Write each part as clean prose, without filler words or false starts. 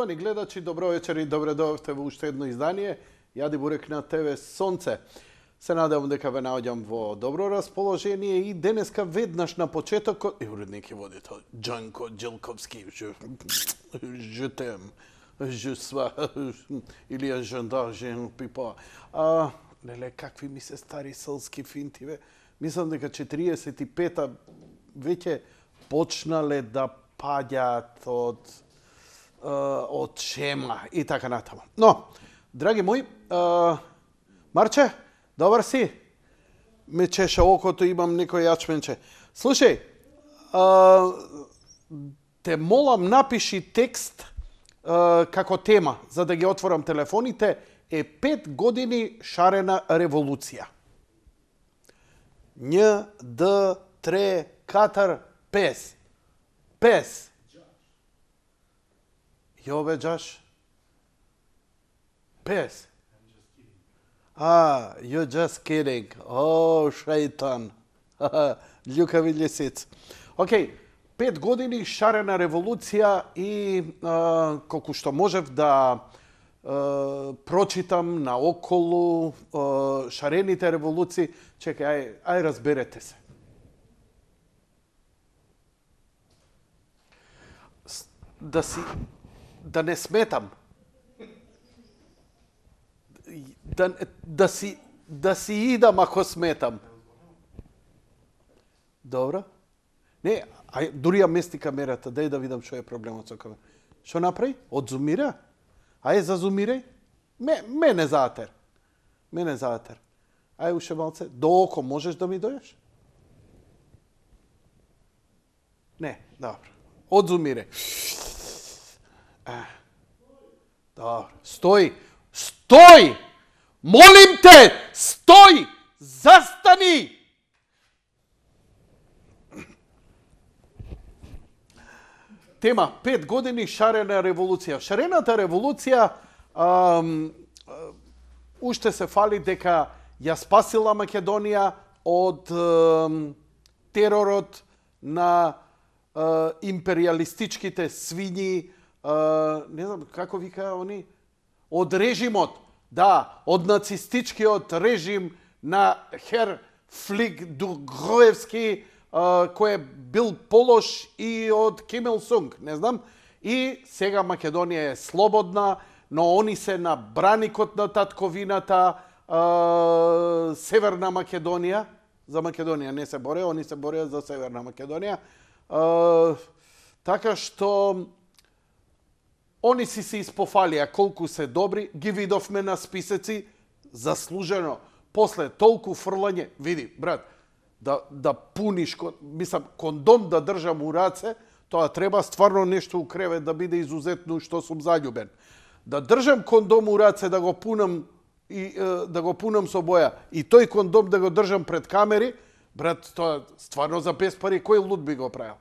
Поштовани гледачи, добро вечер и добре дојдовте во уште едно издание. Јади Бурек на ТВ Сонце. Се надевам дека ве наоѓам во добро расположение и денеска веднаш на почетокот уредник и водител Џанко Џелковски. Je t'aime. Je sois или ја жандар жен пипа. Леле, какви ми се стари сълски финти, бе. Мислам дека 45-та веќе почнале да паѓаат од шема и така натаму. Но, драги мои, Марче, добар си? Ме чеша окото, имам некој јачменче. Слушај, те молам напиши текст како тема, за да ги отворам телефоните, е 5 години шарена револуција. Њ, Д, Тре, Катар, Пес. Пес. Јо бе, Джаш? Пес. You're just kidding. О, шејтан. Љукави лисиц. Океј, 5 години шарена револуција и колку што можев да прочитам наоколу шарените револуции. Чекај, ај разберете се. Да не сметам. Да си идам ако сметам. Добро? Не, дури ја мести камерата, дај да видам што е проблемот со камерата. Што направи? Одзумира? Ајде зазумирај. Мене заатер. Мене заатер. Ајде уште малце. До око можеш да ми дојдеш? Не, добро. Одзумирај. Добро. Стој! Стој! Молим те! Стој! Застани! Тема 5 години шарена револуција. Шарената револуција уште се фали дека ја спасила Македонија од теророт на империалистичките свињи, не знам како вика они, од режимот, да, од нацистичкиот режим на Хер Флиг Дугроевски, кој бил полош и од Ким Ил Сунг, не знам. И сега Македонија е слободна, но они се на браникот на татковината, Северна Македонија. За Македонија не се боре, они се бореа за Северна Македонија. Така што они си се испофалија колку се добри, ги видовме на списеци, заслужено. После толку фрлање, види, брат, да пуниш, мислам, кондом да држам у раце, тоа треба стварно нешто у кревет да биде изузетно што сум заљубен. Да држам кондом у раце, да го пунам и да го пунам со боја, и тој кондом да го држам пред камери, брат, тоа стварно за без пари, кој луд би го правил?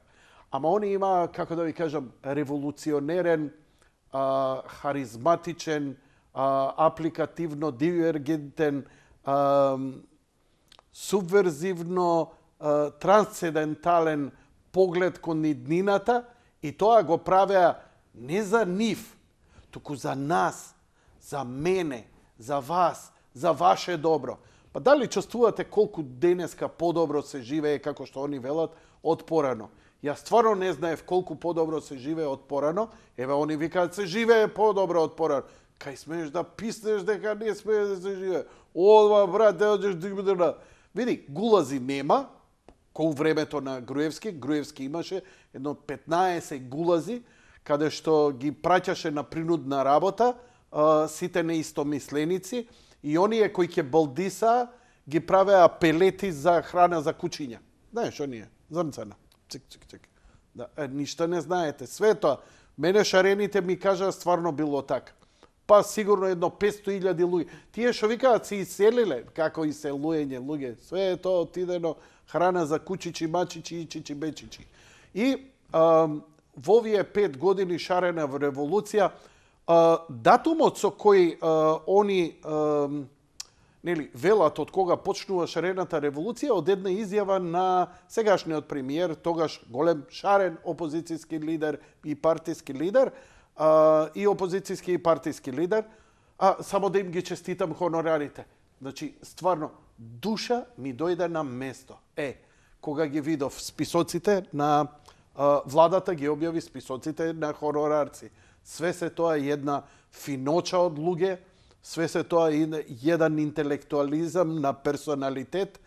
Ама они има, како да ви кажам, револуционерен, харизматичен, апликативно дивергентен, субверзивно, трансцендентален поглед кон иднината, и тоа го правеа не за нив, туку за нас, за мене, за вас, за ваше добро. Па дали чувствувате колку денеска подобро се живее, како што они велат, од порано? Јас стварно не знаев колку подобро се живее од порано. Еве, они викаат се живее подобро од порано. Кај смееш да писнеш дека не смее да се живее? Одма, брат, да одиш да... Види, гулази нема, кој времето на Груевски. Груевски имаше едно 15 гулази, каде што ги праќаше на принудна работа сите неистомисленици, и оние кои ќе балдиса ги правеа пелети за храна за кучиња. Знаеш, оние, зрнцана. Чик. Да, ништо не знаете. Све тоа, мене шарените ми кажа стварно било така. Па сигурно едно 500.000 луѓе. Тие што викаат се иселиле, како иселуење луѓе. Све тоа отидено храна за кучичи, мачичи, ичичи, бечичи. И во овие 5 години шарена револуција, датумот со кој они велат од кога почнува шарената револуција, од една изјава на сегашниот премиер, тогаш голем шарен опозицијски лидер и партиски лидер, и опозицијски и партиски лидер, само да им ги честитам хонорарите. Значи, стварно, душа ми дојде на место. Кога ги видов списоците на владата, ги објави списоците на хонорарци. Све се тоа една финоча од луѓе, све се тоа еден интелектуализам на персоналитет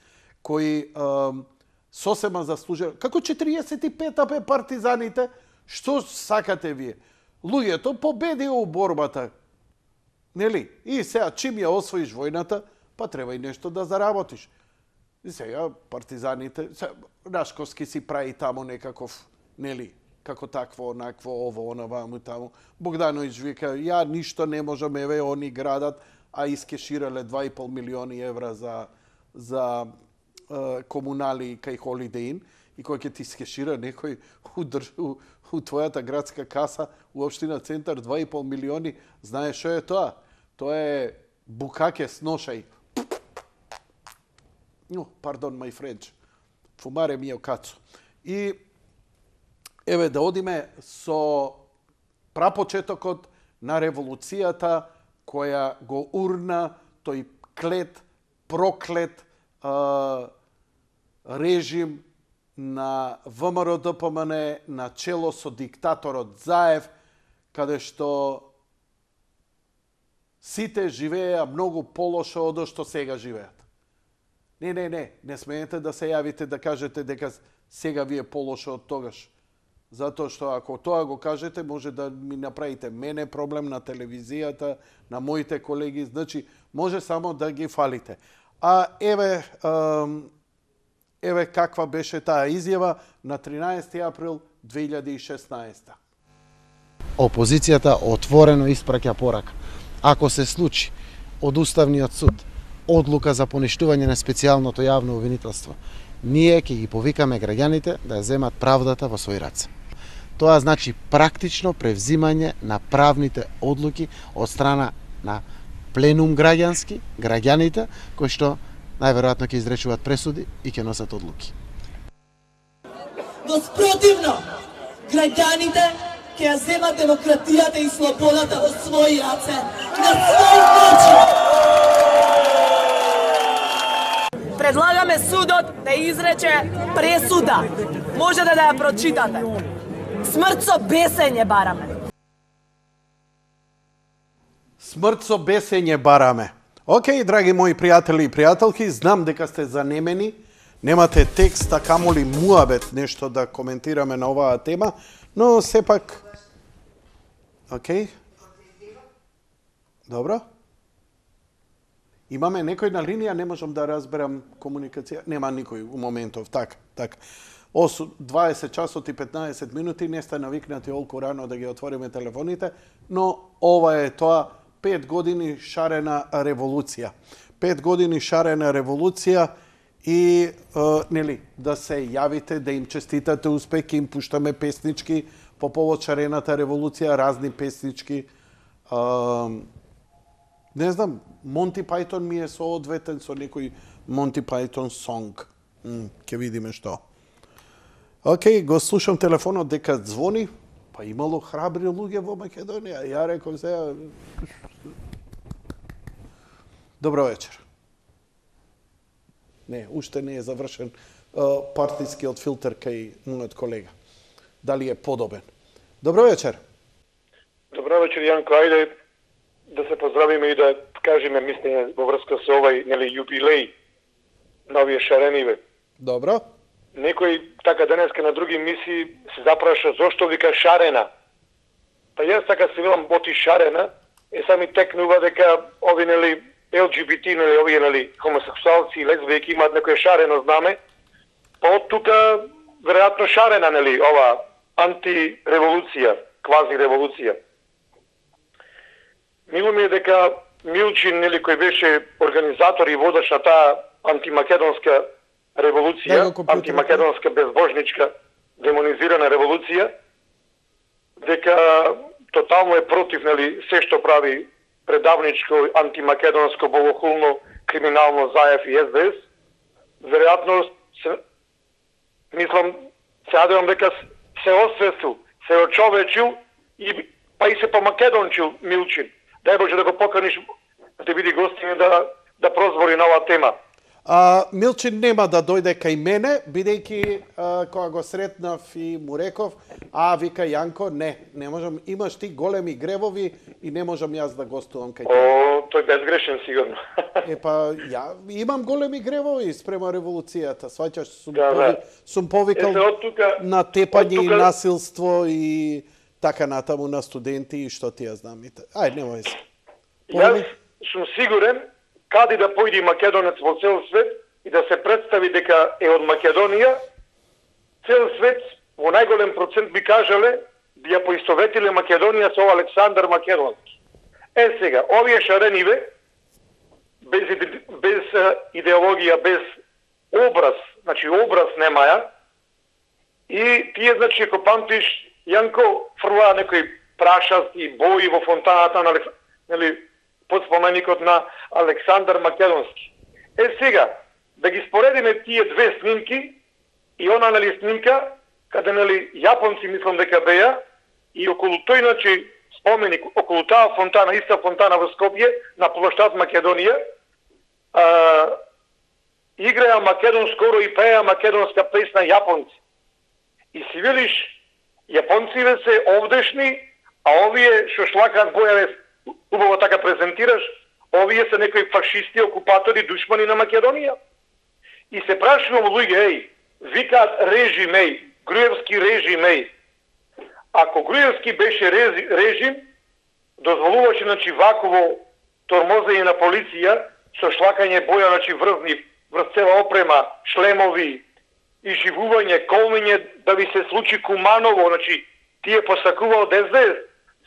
кој сосема заслужува. Како 45-та бе партизаните, што сакате вие? Луѓето победија у борбата. Нели? И сега, чим ја освоиш војната, па треба и нешто да заработиш. И сега, партизаните, Рашковски си прави таму некаков, нели, како такво, онакво, ово, оно, ваму, таму. Богдановиќ вика, ја ништо не можам, еве, они градат, а искеширале 2,5 милиони евра за комунали кај Холидей Ин, и кој ќе ти искешира некој у твојата градска каса у општина Центар 2,5 милиони, знаеш што е тоа? Тоа е букаке с ношај. Pardon, my French. Fumare mio cazzo. И еве да одиме со прапочетокот на револуцијата која го урна тој клет, проклет режим на ВМРО-ДПМН на чело со диктаторот Заев, каде што сите живееа многу полошо од што сега живеат. Не смеете да се јавите да кажете дека сега ви е полошо од тогаш. Затоа што ако тоа го кажете, може да ми направите мене проблем на телевизијата, на моите колеги, значи може само да ги фалите. Еве каква беше таа изјава на 13 април 2016. Опозицијата отворено испраќа порака. Ако се случи од Уставниот суд одлука за поништување на специјалното јавно обвинителство, ние ќе ги повикаме граѓаните да ја земат правдата во своји раце. Тоа значи практично превзимање на правните одлуки од страна на пленум граѓански, граѓаните, кои што најверојатно ќе изречуваат пресуди и ќе носат одлуки. Но спротивно, граѓаните ќе ја земат демократијата и слободата во своји раце, на свој начин. Предлагаме судот да изрече пресуда. Можете да ја прочитате. Смрт со бесење бараме. Смрт со бесење бараме. Океј, драги мои пријатели и пријателки, знам дека сте занемени, немате текст, а камоли муабет нешто да коментираме на оваа тема, но сепак... Океј? Добро? Имаме некој на линија, не можам да разберам комуникација. Нема никој у моментов, така. 20 часот и 15 минути, не сте навикнати олку рано да ги отвориме телефоните, но ова е тоа 5 години шарена револуција. 5 години шарена револуција и нели да се јавите, да им честитате успех, им пуштаме песнички по повод шарената револуција, разни песнички. Не знам, Монти Пајтон ми е соодветен со некој Монти Пајтон сонг. Ќе видиме што. Океј, го слушам телефонот дека звони, па имало храбри луѓе во Македонија. Ја реков сега... Добро вечер. Не, уште не е завршен партискиот филтер кај мојот колега. Дали е подобен? Добро вечер. Добро вечер, Јанко. Ајде да се поздравиме и да кажеме мислење во врска со овај јубилеј на овие шарениве. Добро. Некој така денеска на други мисии се запраша зошто вика шарена. Па јас така се велам боти шарена, сами текнува дека ови ЛГБТ, овие хомосексуалци и лесбијки имаат некој шарено знаме. Па од тука веројатно шарена ова антиреволуција, квази револуција. Мило ми е дека Милчин, кој беше организатор и водач на таа антимакедонска револуција, антимакедонска безбожничка демонизирана револуција, дека тотално е против се што прави предавничко, антимакедонско, богохулно, криминално Заев и СДС. Веројатно, мислам, се надевам дека се освестил, се очовечил и па и се помакедончил Милчин. Дај Боже да го поканиш да те биде гостин да прозвори на оваа тема. Милчин нема да дојде кај мене, бидејќи кога го сретнав и му реков, вика Јанко, не можам, имаш ти големи гревови и не можам јас да гостувам кај тебе. Тој безгрешен сигурно. Ја имам големи гревови спрема револуцијата, сваќаш, сум повикал на тепање и насилство и така натаму на студенти и што ти ја знам. Ајде, немој се. Јас сум сигурен каде да појде македонец во цел свет и да се представи дека е од Македонија, цел свет во најголем процент би кажале би ја поистоветиле Македонија со Александар Македонски. Сега, овие шарениве, без идеологија, без образ, значи образ немаја, и тие, значи, ако памтиш, Јанко фрлаа некои прашасти бои во фонтаната на под споменикот на Александар Македонски. Сега, да ги споредиме тие две снимки и она снимка, каде јапонци мислам дека беа, и околу тој, значи, споменик, околу таа фонтана, иста фонтана во Скопје, на плоштад Македонија, играја македонско и пеа македонска песна јапонци. И си велиш, јапонциве се овдешни, а овие што шлакаат бојаве, убаво така презентираш, овие се некои фашисти, окупатори, душмани на Македонија. И се прашувам луѓе, викаат режим, Груевски режим, ако Груевски беше режим, дозволуваше, значи, ваково тормозење на полиција, со шлакање боја, значи, врз цела опрема, шлемови, и живување, колмење, да ви се случи Куманово, значи, тие посакувал ДСДС,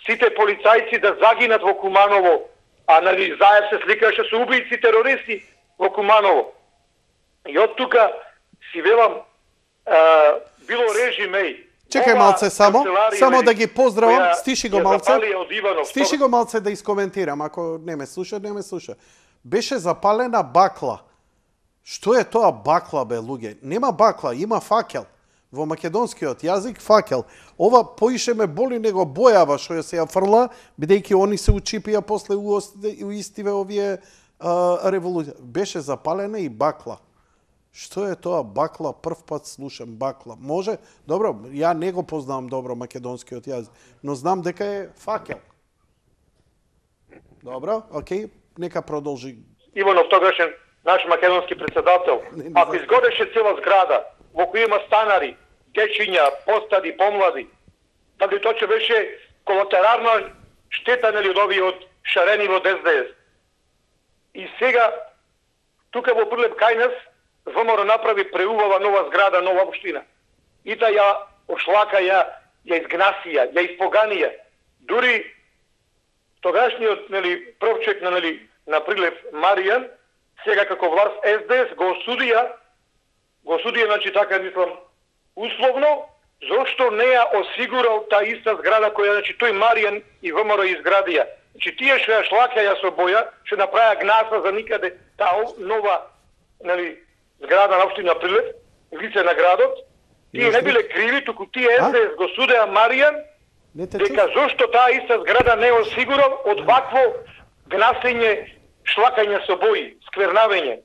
сите полицајци да загинат во Куманово, а Заев се сликаше со убијци терористи во Куманово. И од тука си велам, било режим, Чекај малце само да ги поздравам, стиши го малце да искоментирам, ако не ме слуша. Беше запалена бакла. Што е тоа бакла, бе, луѓе? Нема бакла, има факел. Во македонскиот јазик факел. Ова поише ме боли него бојава што се ја фрла, бидејќи они се учипија после уистиве овие револуција. Беше запалена и бакла. Што е тоа бакла? Прв пат слушам бакла. Може? Добро, ја не го познавам добро македонскиот јазик, но знам дека е факел. Добро, окей, нека продолжи. Иванов тогашен наш македонски председател, ако изгореше цела зграда, во која има станари, дечиња, постади, помлади, дали тоа че беше колатерарна штета од овие од шарени во ДСДС. И сега, тука во Прилеп кај нас, ВМРО направи преувала нова зграда, нова општина. И та ја ошлака, ја изгнасија, ја испоганија. Дури тогашниот првчек на Прилеп Маријан, сега како власт СДС го осудија, значи така мислам, условно, зошто не ја осигурал таа иста зграда која, значи, тој Маријан и ВМРО изградија. Значи, тие што ја шлакаја со боја, што направија гнаса за никаде таа нова, зграда на општина Прилеп, лице на градот, тие не биле криви, туку тие СДС го судеа Маријан, дека зошто таа иста зграда не осигурал од вакво гнасење, шлакање со бои, сквернавење.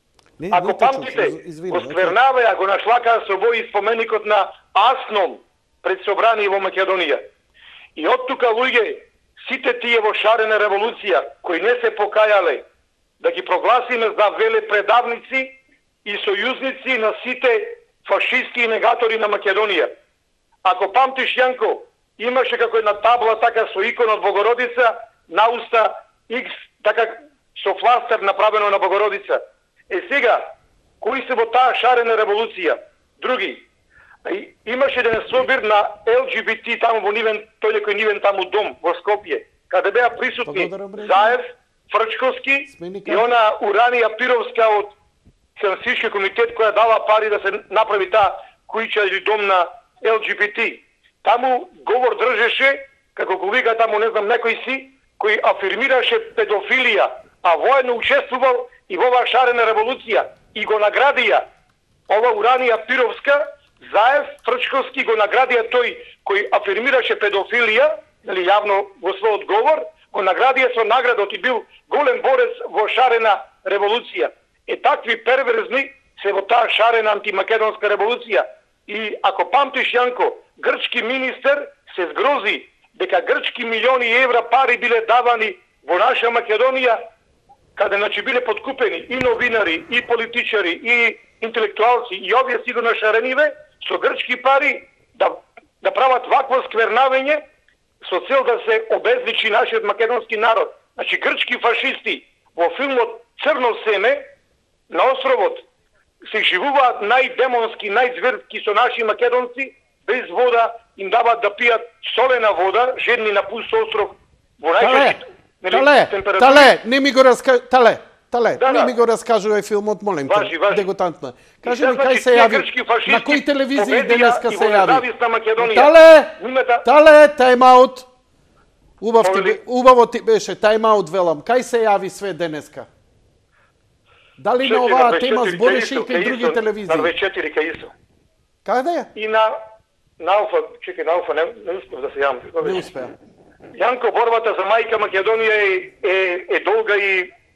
Ако памтите, го сквернаваја, го нашлакаа со бои споменикот на Асном пред собрание во Македонија. И од тука, луѓе, сите тие во шарена револуција, кои не се покајале, да ги прогласиме за велепредавници и сојузници на сите фашистски негатори на Македонија. Ако памтиш, Јанко, имаше како една табла така со икона од Богородица, на уста X, така со фластер направено на Богородица. Сега, кои се во таа шарена револуција? Други. Имаше еден собир на ЛГБТ таму во нивен, тој некој нивен таму дом во Скопје, каде беа присутни Заев, Фрчковски и она Уранија Пировска од Хелсински комитет која дала пари да се направи таа куќа или дом на ЛГБТ. Таму говор држеше, како го вика таму не знам некој си, кој афирмираше педофилија, а воено учествувал и во оваа шарена револуција и го наградија ова Уранија Пировска, Заев, Фрчковски го наградија тој кој афирмираше педофилија јавно во својот говор, го наградија со наградот и бил голем борец во шарена револуција. Такви перверзни се во таа шарена антимакедонска револуција. И ако памтиш, Јанко, грчки министер се згрози дека грчки милиони евра пари биле давани во наша Македонија, каде значи биле подкупени и новинари, и политичари, и интелектуалци, и овие сигурно шарениве, со грчки пари да прават вакво сквернавење со цел да се обезличи нашиот македонски народ. Значи грчки фашисти во филмот Црно семе на островот се живуваат најдемонски, најзверски со наши македонци, без вода, им дават да пијат солена вода, жедни на пуст остров во најчешите Тале, не ми го раскажувај филмот, молим те. Дегутантно. Кажи ми кај се јави, на кои телевизии денеска се јави? Тале, тајм-аут. Убаво ти беше, тајм-аут велам. Кај се јави све денеска? Дали на оваа тема збореше и кај други телевизии? На 24 кај ИСО. Каде? И на Алфа, чекај, на Алфа не успев да се јавам. Не успеа. Јанко, борбата за мајка Македонија е долга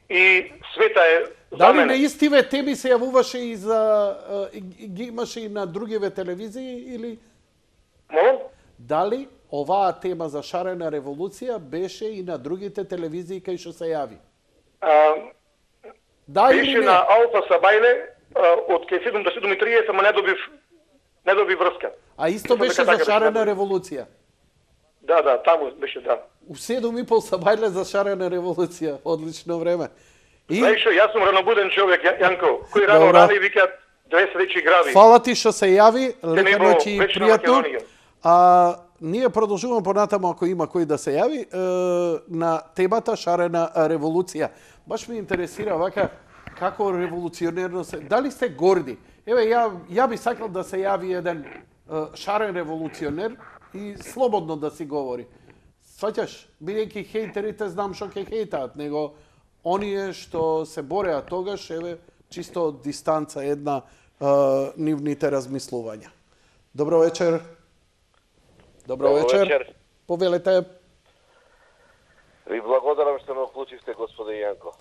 и света е за Дали мене. на истиве теми се јавуваше и за ги имаше и на другиве телевизии или Молам? дали оваа тема за шарена револуција беше и на другите телевизии кај што се јави? Да или Беше не? на Алфа Сабајле од кај 7 до 7:30, ама не доби врска. А исто беше за шарена револуција. Да, таму беше, да. У 7:30 Сабајле за шарена револуција. Одлично време. И Знаеш што, јас сум ранобуден човек, Јанко, кој рано Добра. рани викаат две среќи грави. фала ти што се јави, лека него ноќ и вечна пријатно. Македонија. Ние продолжуваме понатаму ако има кој да се јави на темата шарена револуција. Баш ме интересира вака како револуционерно се... Дали сте горди? Еве, ја би сакал да се јави еден шарен револуционер и слободно да си говори. Сваќаш, бидејќи хејтерите знам што ќе хејтаат, него оние што се бореа тогаш, еве, чисто од дистанца една нивните размислувања. Добро вечер. Добро вечер. Повелете. Ви благодарам што ме уклучивте, господин Јанко.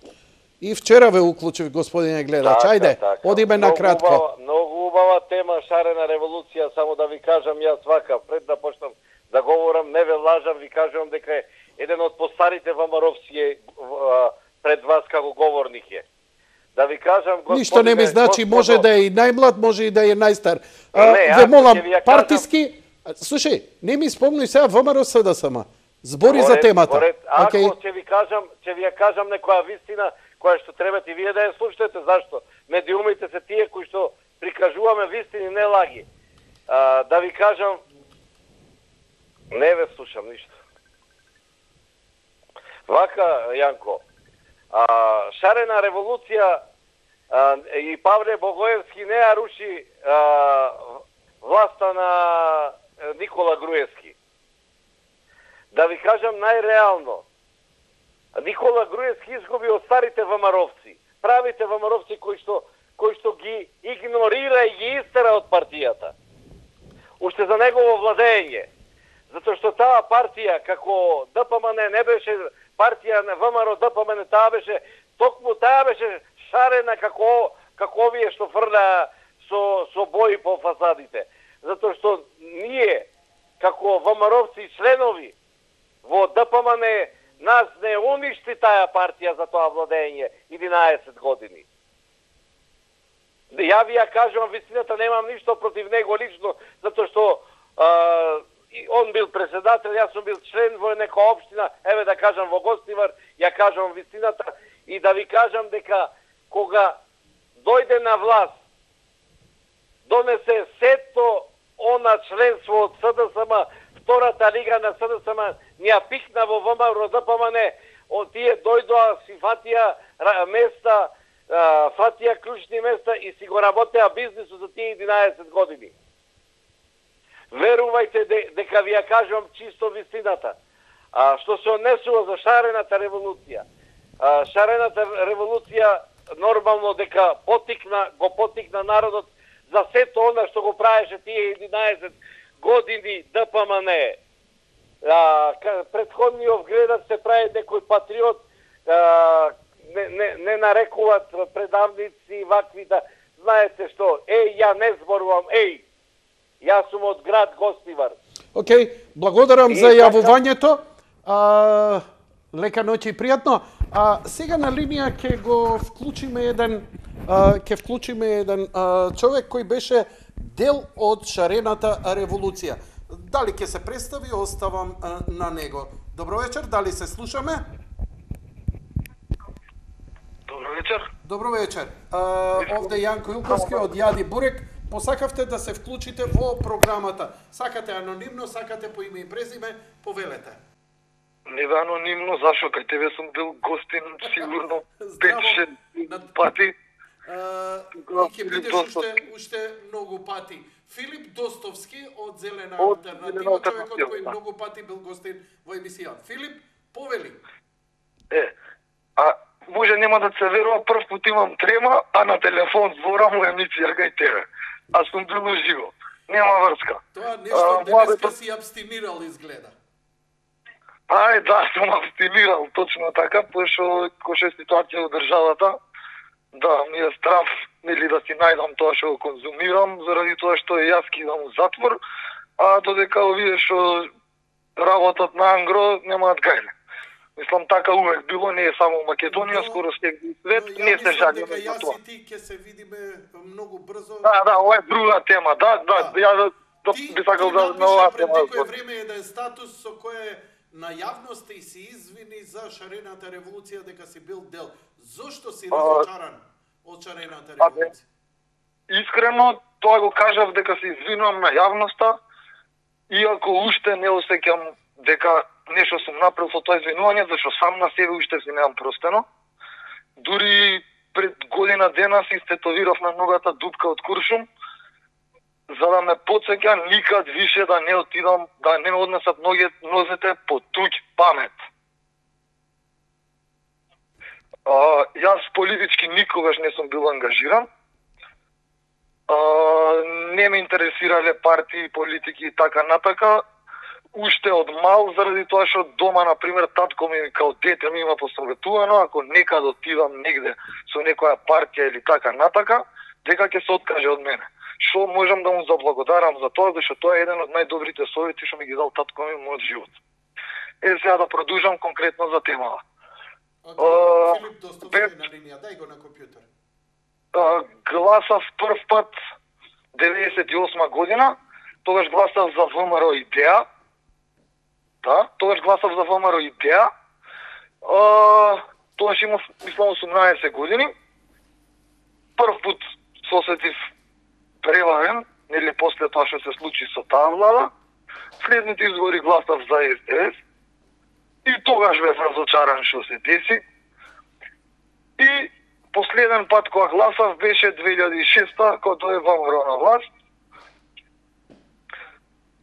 И вчера ве уклучив, господине гледач. Ајде, одиме на кратко. Многу убава тема шарена револуција, само да ви кажам јас вака, пред да почнам да говорам, не ве лажам, ви кажувам дека е еден од постарите вамаровци пред вас како говорник е. Да ви кажам, господине... Ништо не ми значи, може да е и најмлад, може и да е најстар. Не, ве молам, ќе ви ја партиски... Слушај, не ми спомнуј сега ВМРО СДСМ. Збори за темата. Ако ќе ви ја кажам некоја вистина, која што требате и вие да ја слушате, зашто? Медиумите се тие кои што прикажуваме вистини, не лаги. Да ви кажам, не ве слушам ништо. Вака, Јанко, шарена револуција и Павле Богоевски не ја руши власта на Никола Груевски. Да ви кажам најреално, Никола Груевски изгуби од старите вамаровци, правите вамаровци кои што ги игнорира и ги истера од партијата. Уште за негово владење. Затоа што таа партија, како ДПМН не беше партија на ВМРО ДПМН, токму таа беше шарена како овие што фрля со бои по фасадите. Затоа што ние, како ВМРО-вци членови во ДПМН, нас не уништи таа партија за тоа владење 11 години. Ја ви ја кажувам вистината, немам ништо против него лично, затоа што он бил председател, јас сум бил член во нека општина, еве да кажам во Гостивар, ја кажам вистината и да ви кажам дека кога дојде на власт, донесе сето она членство од СДСМ, втората лига на СДСМ, ни ја пикна во ВМРО ДПМН, од тие дојдоа, си фатија места, фатија клучни места и си го работеа бизнисот за тие 11 години. Верувајте дека ви ја кажувам чисто вистината. Што се однесува за шарената револуција. Шарената револуција нормално дека го потикна народот за сето она што го правеше тие 11 години ДПМН. Предходниот гледат се прави некој патриот, не нарекуваат предавници вакви да знаете што, ја не зборувам, јас сум од град Гостивар. Океј, благодарам за јавувањето. Лека ноќ и пријатно. Сега на линија ќе го вклучиме еден човек кој беше дел од шарената револуција. Дали ќе се представи, оставам на него. Добро вечер, дали се слушаме? Добро вечер. Добро вечер. Овде Јанко Илковски од Јади Бурек. Посакавте да се вклучите во програмата. Сакате анонимно, сакате по име и презиме, повелете. Не бе анонимно, зашо кај тебе сум бил гостин сигурно 5-6 пати. И ќе бидеш уште многу пати. Филип Достовски од Зелена алтернатива, човекот кој многу пати бил гостин во емисија. Филип, повели. Може нема да се верува, прв пат имам трема, а на телефон зборам во емисија кај тебе. А сум бил уживо. Нема врска. Тоа нешто денеска си абстинирал изгледа. Да, сум абстинирал, точно така, пошто кој е ситуација во државата, да, ми е страф, нели да си најдам тоа што го конзумирам, заради тоа што јас кидам у затвор, а додека овие што работат на ангро немаат гајле. Мислам, така увек било, не е само Македонија, скоро секој свет, не се жалиме за тоа. Јас и ти ќе се видиме многу брзо. Да, ова е друга тема, ја би сакал да на оваа тема. Ти напиша пред некој време еден статус со кој на јавноста и си извини за шарената револуција дека си бил дел. Зошто си разочаран од шарената револуција? Искрено, тоа го кажав дека се извинувам на јавноста, иако уште не осеќам дека нешто сум направил со тоа извинување, зашто сам на себе уште си немам простено. Дури пред година дена си стетовирав на ногата дупка од куршум, за да ме потсеќа никад више да не отидам, да не ме однесат нозете по туѓ памет. Јас политички никогаш не сум бил ангажиран. Не ме интересирале партии, политики и така натака. Уште од мал, заради тоа што дома, например, татко ми као дете ми има посоветувано, ако некад отидам негде со некоја партија или така натака, дека ќе се откаже од мене. Што можам да му заблагодарам за тоа, зашто тоа е еден од најдобрите совети што ми ги дал татко ми во мојот живот. Сега да продолжам конкретно за темава. Филип Достовски на линија, дај го на компјутер. Гласав прв пат 98 година, тогаш гласав за ВМРО идеја. Да, тогаш гласав за ВМРО идеја. Тогаш имав, мислам, 18 години. Прв пат сосетив преварен, нели после тоа што се случи со таа влада. Следните избори гласав за СДС. И тогаш бев разочаран што се деси. И последен пат кога гласав беше 2006 кога дое ВМРО на власт.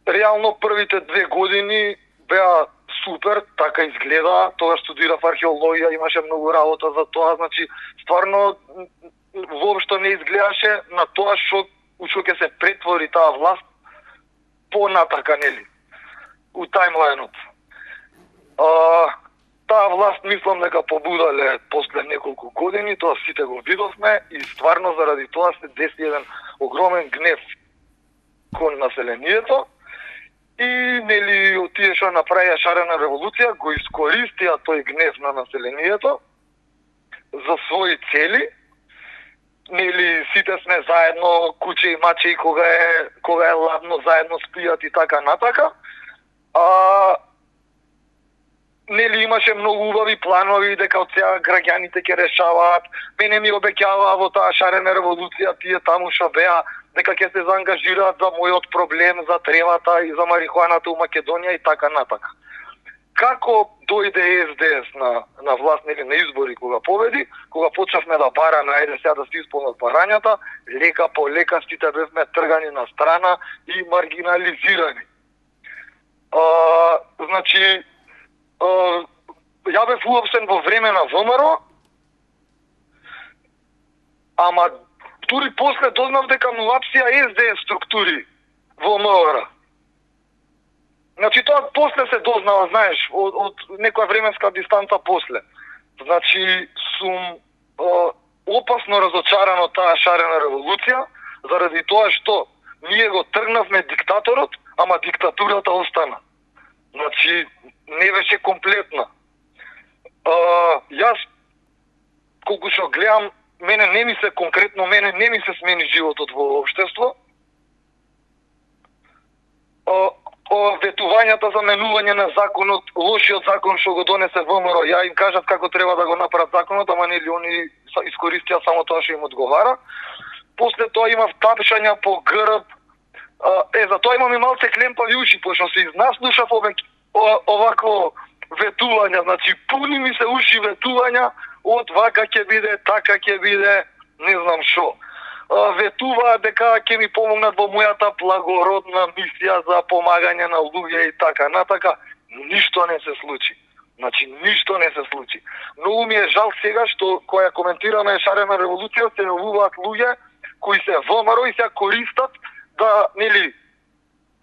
Реално првите 2 години беа супер, така изгледа. Тогаш студирав археологија, имаше многу работа за тоа, значи стварно воопшто не изгледаше на тоа што ќе се претвори таа власт понатака, нели, у тајмлајнот. Таа власт мислам дека побудале после неколку години, тоа сите го видовме и стварно заради тоа се деси еден огромен гнев кон населението и нели тие што направија шарена револуција го искористија тој гнев на населението за своји цели. Нели сите сме заедно, куче и маче, кога е ладно заедно спијат и така натака. Нели имаше многу убави планови дека од сега граѓаните ќе решаваат. Мене ми обеќаваа во таа шарена револуција тие таму што беа дека ќе се заангажираат за мојот проблем, за тревата и за марихуаната у Македонија и така натака. Како дојде СДС на власт, нели на избори кога победи, кога почнавме да бараме, ајде сега да се исполнат барањата, лека по лека сите бевме тргани на страна и маргинализирани. Значи, ја бев уопштен во време на ВМРО, ама дури после дознав дека му апсија СДС структури во МВР. Значи тоа после се дознава, знаеш, од некоја временска дистанца после. Значи сум опасно разочаран од таа шарена револуција, заради тоа што ние го тргнавме диктаторот, ама диктатурата остана. Значи не беше комплетна. Јас колку што гледам, мене не ми се смени животот во општество. Ветувањата за менување на законот, лошиот закон што го донесе ВМРО, ја им кажат како треба да го направат законот, ама нели они искористија само тоа што им одговара. После тоа имав тапшања по грб. За тоа имам и малце клемпави уши, пошто се изнаслушав овакво ветувања, значи пуни ми се уши ветувања од вака ќе биде, така ќе биде, не знам шо. Ветуваат дека ќе ми помогнат во мојата благородна мисија за помагање на луѓе и така натака. Ништо не се случи. Значи, ништо не се случи. Многу ми е жал сега што која коментираме шарена револуција се јавуваат луѓе кои се ВМРО и се користат да, нели,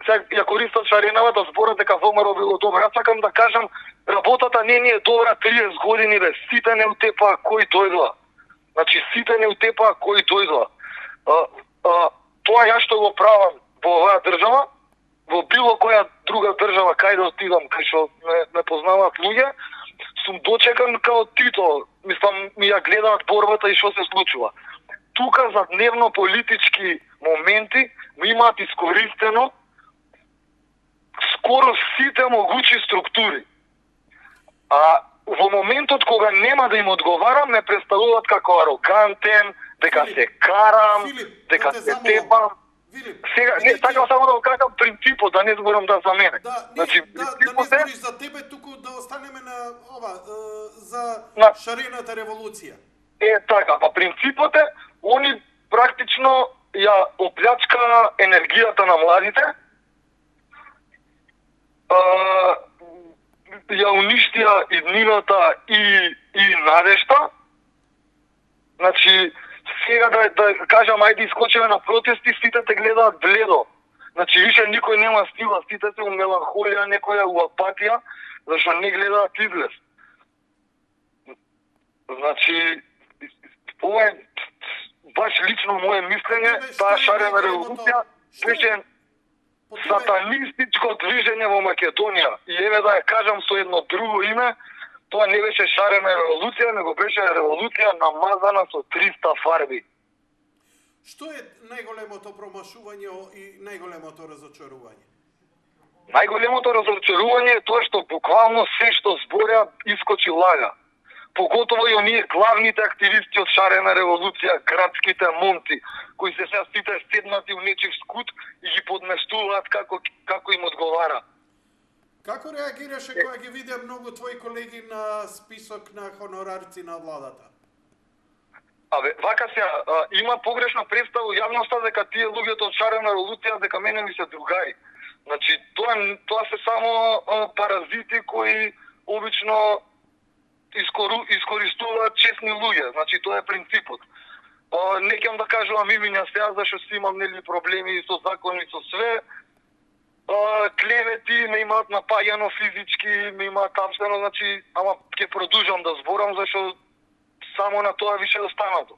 се ја користат шаренава да зборат дека ВМРО било добро. Јас сакам да кажам, работата не ни е добра 30 години, бе. Сите не утепаа кои дојдоа. Значи, сите не утепаа кои дојдоа. Тоа ја што го правам во оваа држава, во било која друга држава, кај да отидам, кај што не познаваат луѓе, сум дочекан као Тито. Мислам, ми ја гледаат борбата и што се случува. Тука за дневно политички моменти ми имаат искористено скоро сите могучи структури. А во моментот кога нема да им одговарам, ме представуваат како арогантен, дека се карам, дека се тепам. Сега, не, сакам само да го кажам принципот, да не зборам да за мене. Значи, да не збориш за тебе, туку да останеме на ова, за шарената револуција. Така, па принципот е, они практично ја оплячка енергијата на младите, ја уништија иднината и надежта. Значи, сега да кажам, ајде искочеме на протести, сите те гледаат бледо. Значи, више никој нема стила, сите се у меланхолија, некоја у апатија, зашто не гледаат излез. Значи, ова е баш лично моje мислење, таа шарена револуција беше сатанистичко движење во Македонија. И еве да ја кажам со едно друго име, тоа не беше шарена револуција, него беше револуција намазана со 300 фарби. Што е најголемото промашување и најголемото разочарување? Најголемото разочарување е тоа што буквално се што зборя искочи лага. Поготово и оние главните активисти од шарена револуција, градските момци, кои се сега сите седнати у нечив скут и ги подместуваат како им одговара. Како реагираше кога ги видеа многу твои колеги на список на хонорарци на владата? Вака сега, има погрешна представа у јавноста дека тие луѓето од шарена револуција дека мене ми се другари. Значи, тоа се само паразити кои обично искористуваат честни луѓе. Значи, тоа е принципот. Не ќе да кажувам имиња сега, зашто си имам нели проблеми со закони, со све. Клевети ме имаат напаѓано физички, ме имаат тапсено, значи, ама ќе продолжам да зборам, зашто само на тоа више останато.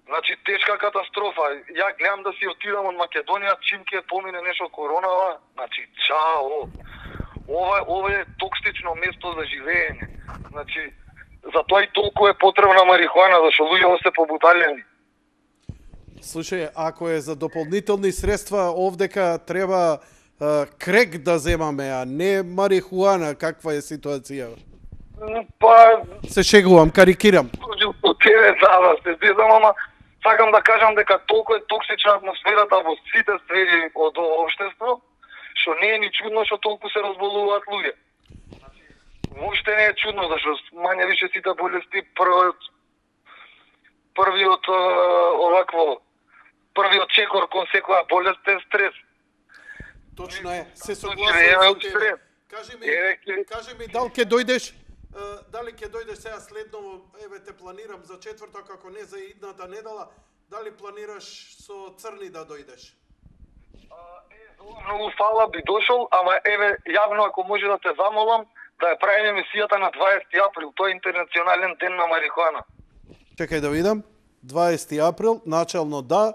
Значи, тешка катастрофа. Ја гледам да си отидам од Македонија, чим ќе помине нешто коронава, значи, чао. Ова е токсично место за живење. Значи, затоа и толку е потребна марихуана, зашто луѓето се побуталени. Слушај, ако е за дополнителни средства, овдека треба крек да земаме, а не марихуана. Каква е ситуација? Па... Се шегувам, карикирам. По тебе се зезам, ама сакам да кажам дека толку е токсична атмосферата во сите сфери од општество, што не е ни чудно што толку се разболуваат луѓе. Воопште не е чудно, зашто мање више сите болести првиот чекор кон секоја болест е стрес. Точно е, се согласувам со тебе. Кажи ми, дали ќе дојдеш сега следново, еве те планирам за четврток, ако не за идната недела, дали планираш со Црни да дојдеш? Многу фала, би дошол, ама еве јавно ако може да те замолам да ја правиме емисијата на 20 април, тој е интернационален ден на марихуана. Чекај да видам. 20 април, начално да,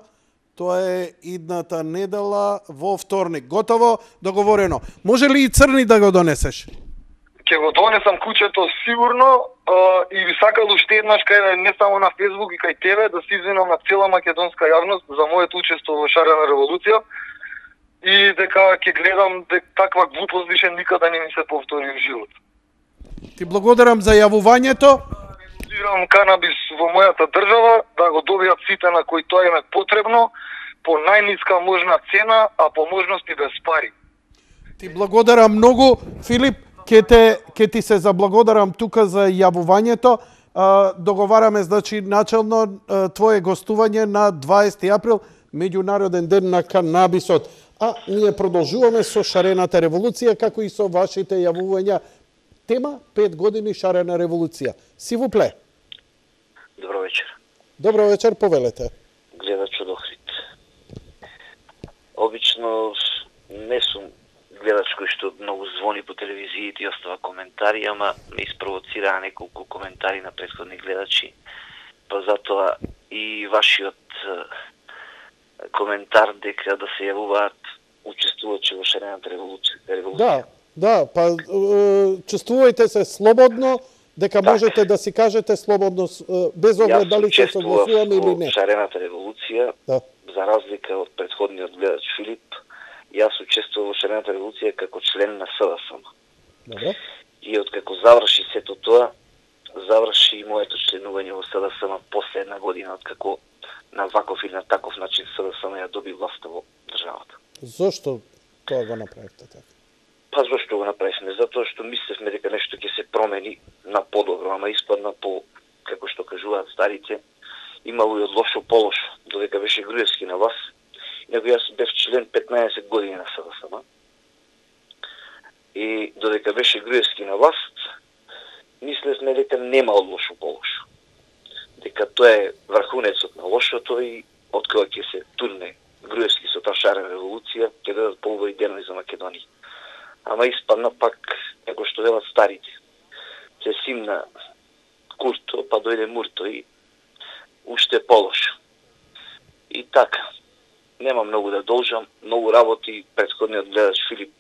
тоа е идната недела во вторник. Готово, договорено. Може ли и црни да го донесеш? Ќе го донесам куќето сигурно и би сакал уште еднаш кај не само на Facebook и кај тебе да се извинам на цела македонска јавност за моето учество во Шарена револуција и дека ќе гледам дека таква глупост више никада не ми се повтори во живот. Ти благодарам за јавувањето. Регулирам канабис во мојата држава да го добијат сите на кои тоа им е потребно по најниска можна цена, а по можност и без пари. Ти благодарам многу, Филип. Ке ти се заблагодарам тука за јавувањето. Договараме, значи, начално твое гостување на 20 април, Меѓународен ден на канабисот. А ние продолжуваме со Шарената револуција, како и со вашите јавувања. Тема 5 години Шарена револуција. Сивупле. Добро вечер. Добро вечер, повелете. Гледач од Охрид. Обично не сум гледач кој што многу звони по телевизиите и остава коментари, ама ме испровоцираа неколку коментари на претходни гледачи. Па затоа и вашиот коментар дека да се јавуваат учествувачи во Шарената револуција. Да, па чувствувајте се слободно, дека можете да си кажете слободно, без оглед дали ќе согласуваме или не. Јас Шарената револуција, за разлика од претходниот гледач Филип, јас учествував во Шарената револуција како член на СДСМ. Добре. И откако заврши сето тоа, заврши и моето членување во СДСМ после една година, откако на ваков или на таков начин СДСМ ја доби власта во државата. Зошто тоа го направивте така? Па зошто го направивме? Затоа што мислевме дека нешто ќе се промени на подобро, ама испадна по, како што кажуваат старите, имало и од лошо по лошо, додека беше Груевски на власт. Инаку јас бев член 15 години на СДСМ. И додека беше Груевски на власт, мислевме дека нема од лошо по лошо. Дека тоа е врхунецот на лошото и од кога ќе се турне Груевски со таа Шарена револуција, ќе дадат поубави денови за Македонија. Ама испадна пак, како што велат старите. Се симна Курто, па дојде Мурто и уште полошо. И така, нема многу да должам, многу работи претходниот гледач Филип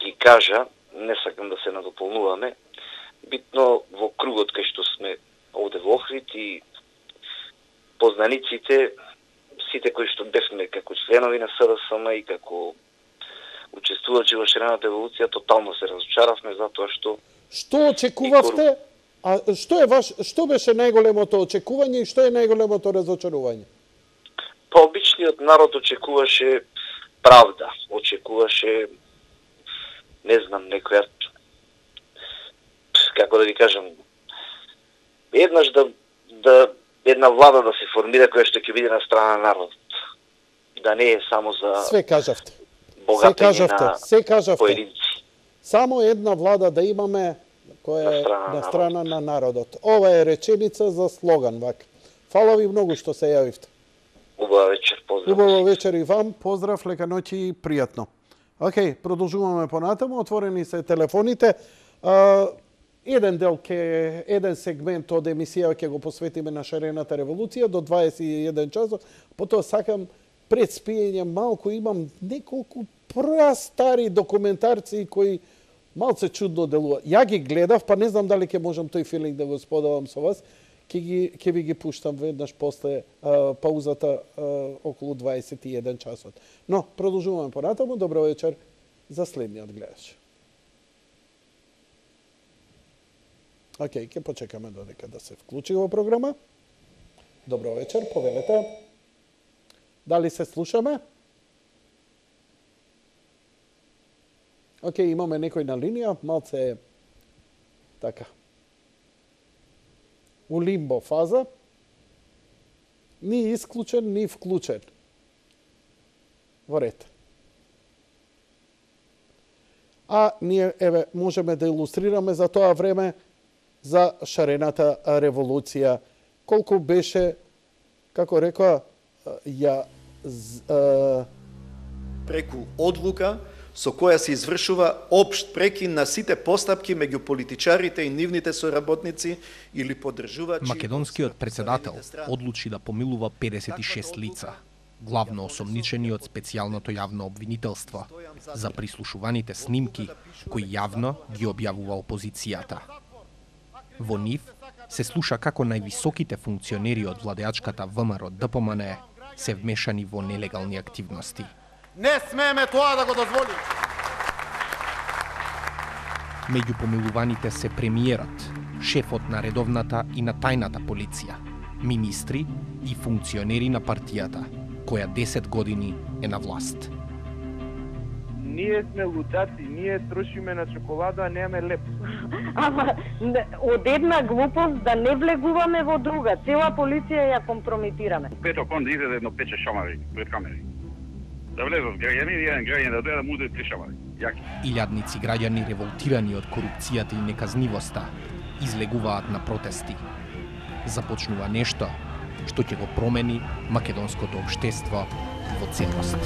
ги кажа, не сакам да се надополнуваме. Битно во кругот кај што сме овде во Охрид и познаниците, сите кои што бевме како членови на СДСМ и како учествувачи во Шарената револуција, тотално се разочаравме затоа што... Што очекувавте? А што беше најголемото очекување и што е најголемото разочарување? Па обичниот народ очекуваше правда, очекуваше, не знам, некоја, како да ви кажам, еднаш една влада да се формира која што ќе биде на страна на народот. Да не е само за... Све кажавте. Се кажавте. Поединци. Само една влада да имаме која е на страна на народот. Ова е реченица за слоган, вака. Фала ви многу што се јавивте. Убава вечер, поздрав. Убава вечер и вам, поздрав, лека ноќ и пријатно. Океј, продолжуваме понатаму, отворени се телефоните. Еден сегмент од емисија ќе го посветиме на Шарената револуција до 21 часот. Потоа сакам пред спиење малку имам неколку прастари документарци кои малце чудно делуваат. Ја ги гледав, па не знам дали ќе можам тој филинг да го споделам со вас. Ќе ви ги пуштам веднаш после паузата околу 21 часот. Но, продолжуваме понатаму. Добро вечер за следниот гледач. Океј, ќе почекаме додека да се вклучи во програма. Добро вечер, повелете. Дали се слушаме? Океј, имаме некој на линија, малце така. У лимбо фаза. Ни исклучен, ни вклучен. Во ред. А ние, еве, можеме да илустрираме за тоа време за Шарената револуција. Колку беше, како рекоа, преку одлука со која се извршува општ прекин на сите постапки меѓу политичарите и нивните соработници или поддржувачи. Македонскиот председател одлучи да помилува 56 лица, главно осомничени од специјалното јавно обвинителство за прислушуваните снимки кои јавно ги објавува опозицијата. Во нив се слуша како највисоките функционери од владеачката ВМРО ДПМН се вмешани во нелегални активности. Не смееме тоа да го дозволиме. Меѓу помилуваните се премиерот, шефот на редовната и на тајната полиција, министри и функционери на партијата, која 10 години е на власт. Ние сме лутаци, ние трошиме на чоколада, а немаме леп. Ама, од една глупост да не влегуваме во друга. Цела полиција ја компрометираме. Пето кон да изеде едно пече шамари пред камери. Да влезат граѓани и еден граѓан да дојде да му удари 3 шамари. Јаки. Илјадници граѓани револтирани од корупцијата и неказнивоста излегуваат на протести. Започнува нешто што ќе го промени македонското општество во целост.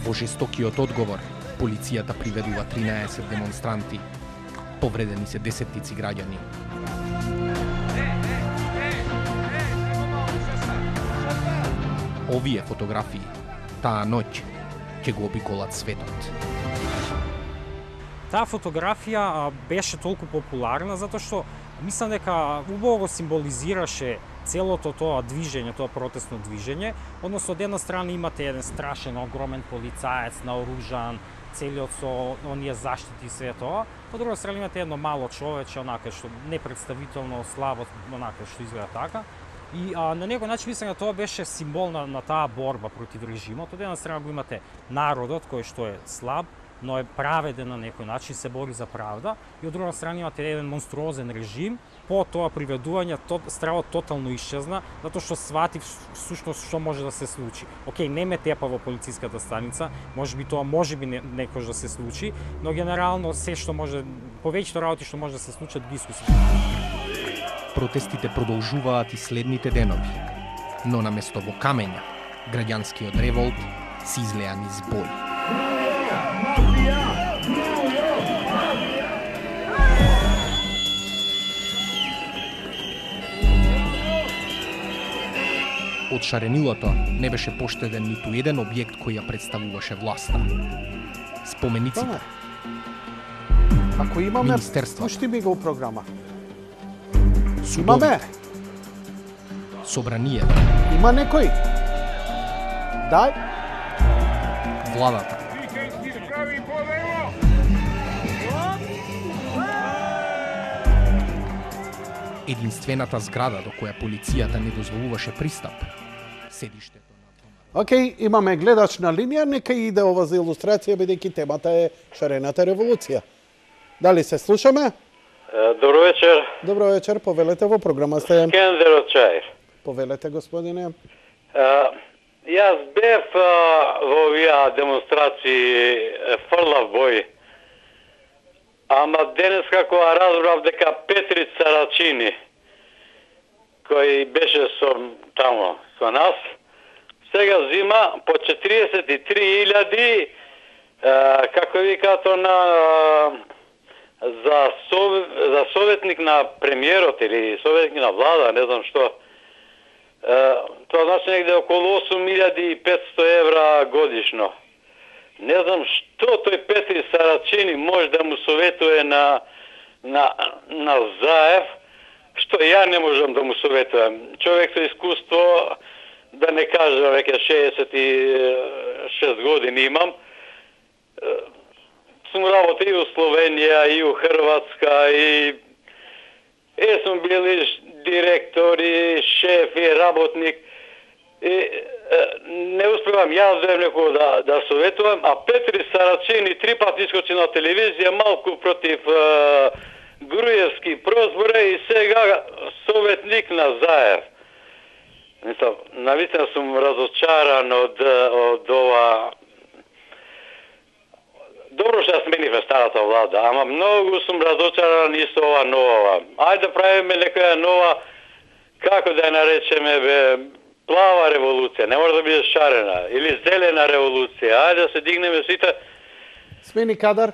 Во жестокиот одговор, полицијата приведува 13 демонстранти. Повредени се десеттици граѓани. Овие фотографии, таа ноќ, ќе го обиколат светот. Таа фотографија беше толку популарна затоа што мислам дека убаво го символизираше целото тоа движење, тоа протестно движење, односно од една страна имате еден страшен, огромен полицаец наоружан, целиот со оние заштити и све тоа, по друга страна имате едно мало човече, онака што непредставително слабо, онака што изгледа така. И на некој начин мислам дека тоа беше символ на таа борба против режимот. Од една страна го имате народот кој што е слаб, но е праведен на некој начин, се бори за правда, и од друга страна имате еден монструозен режим. По тоа приведување стравот тотално исчезна, затоа што свати всушност што може да се случи. Океј, не ме тепа во полициската станица, можеби тоа можеби некош да се случи, но генерално се што може, повеќето работи што може да се случат ги искусува. Протестите продолжуваат и следните денови, но наместо во камења, граѓанскиот револт се излеа низ бој. Од шаренилото не беше поштеден ниту еден објект кој ја представуваше власта. Спомениците, ако имаме, пушти ми го програма. Имаме. Собранието. Има некој? Дај. Владата. Единствената зграда до која полицијата не дозволуваше пристап. Седиштето на... Океј, имаме гледач на линија, нека иде ова за илустрација, бидејќи темата е шарената револуција. Дали се слушаме? Добро вечер. Добро вечер, повелете во програма сте. Скендер од Чаир. Повелете, господине. Јас бев во овие демонстрации фрлав бој. Ама денес како разбрав дека Петри Царачини, кој беше со нас, сега зима по 43.000 како викато за советник на премиерот или советник на влада, не знам што. Тоа значи негде околу 8.500 евра годишно. Не знам што тој Петри Сарачини може да му советува на Заев, што ја не можам да му советувам. Човек со искуство, да не кажам, веќе 66 години имам. Сум работил и у Словенија, и у Хрватска, и сум бил и директор, и шеф, и работник. И не успевам јас да советувам, а Петри Сарачини 3 пати искочи на телевизија, малку против Груевски прозбора и сега советник на Заев. Навистина сум разочаран од ова добро што сменивме старата влада, ама многу сум разочаран и со ова нова. Ајде да правиме некоја нова, како да ја наречеме, плава револуција, не може да биде шарена, или зелена револуција. Ајде да се дигнеме сите. Смени кадар?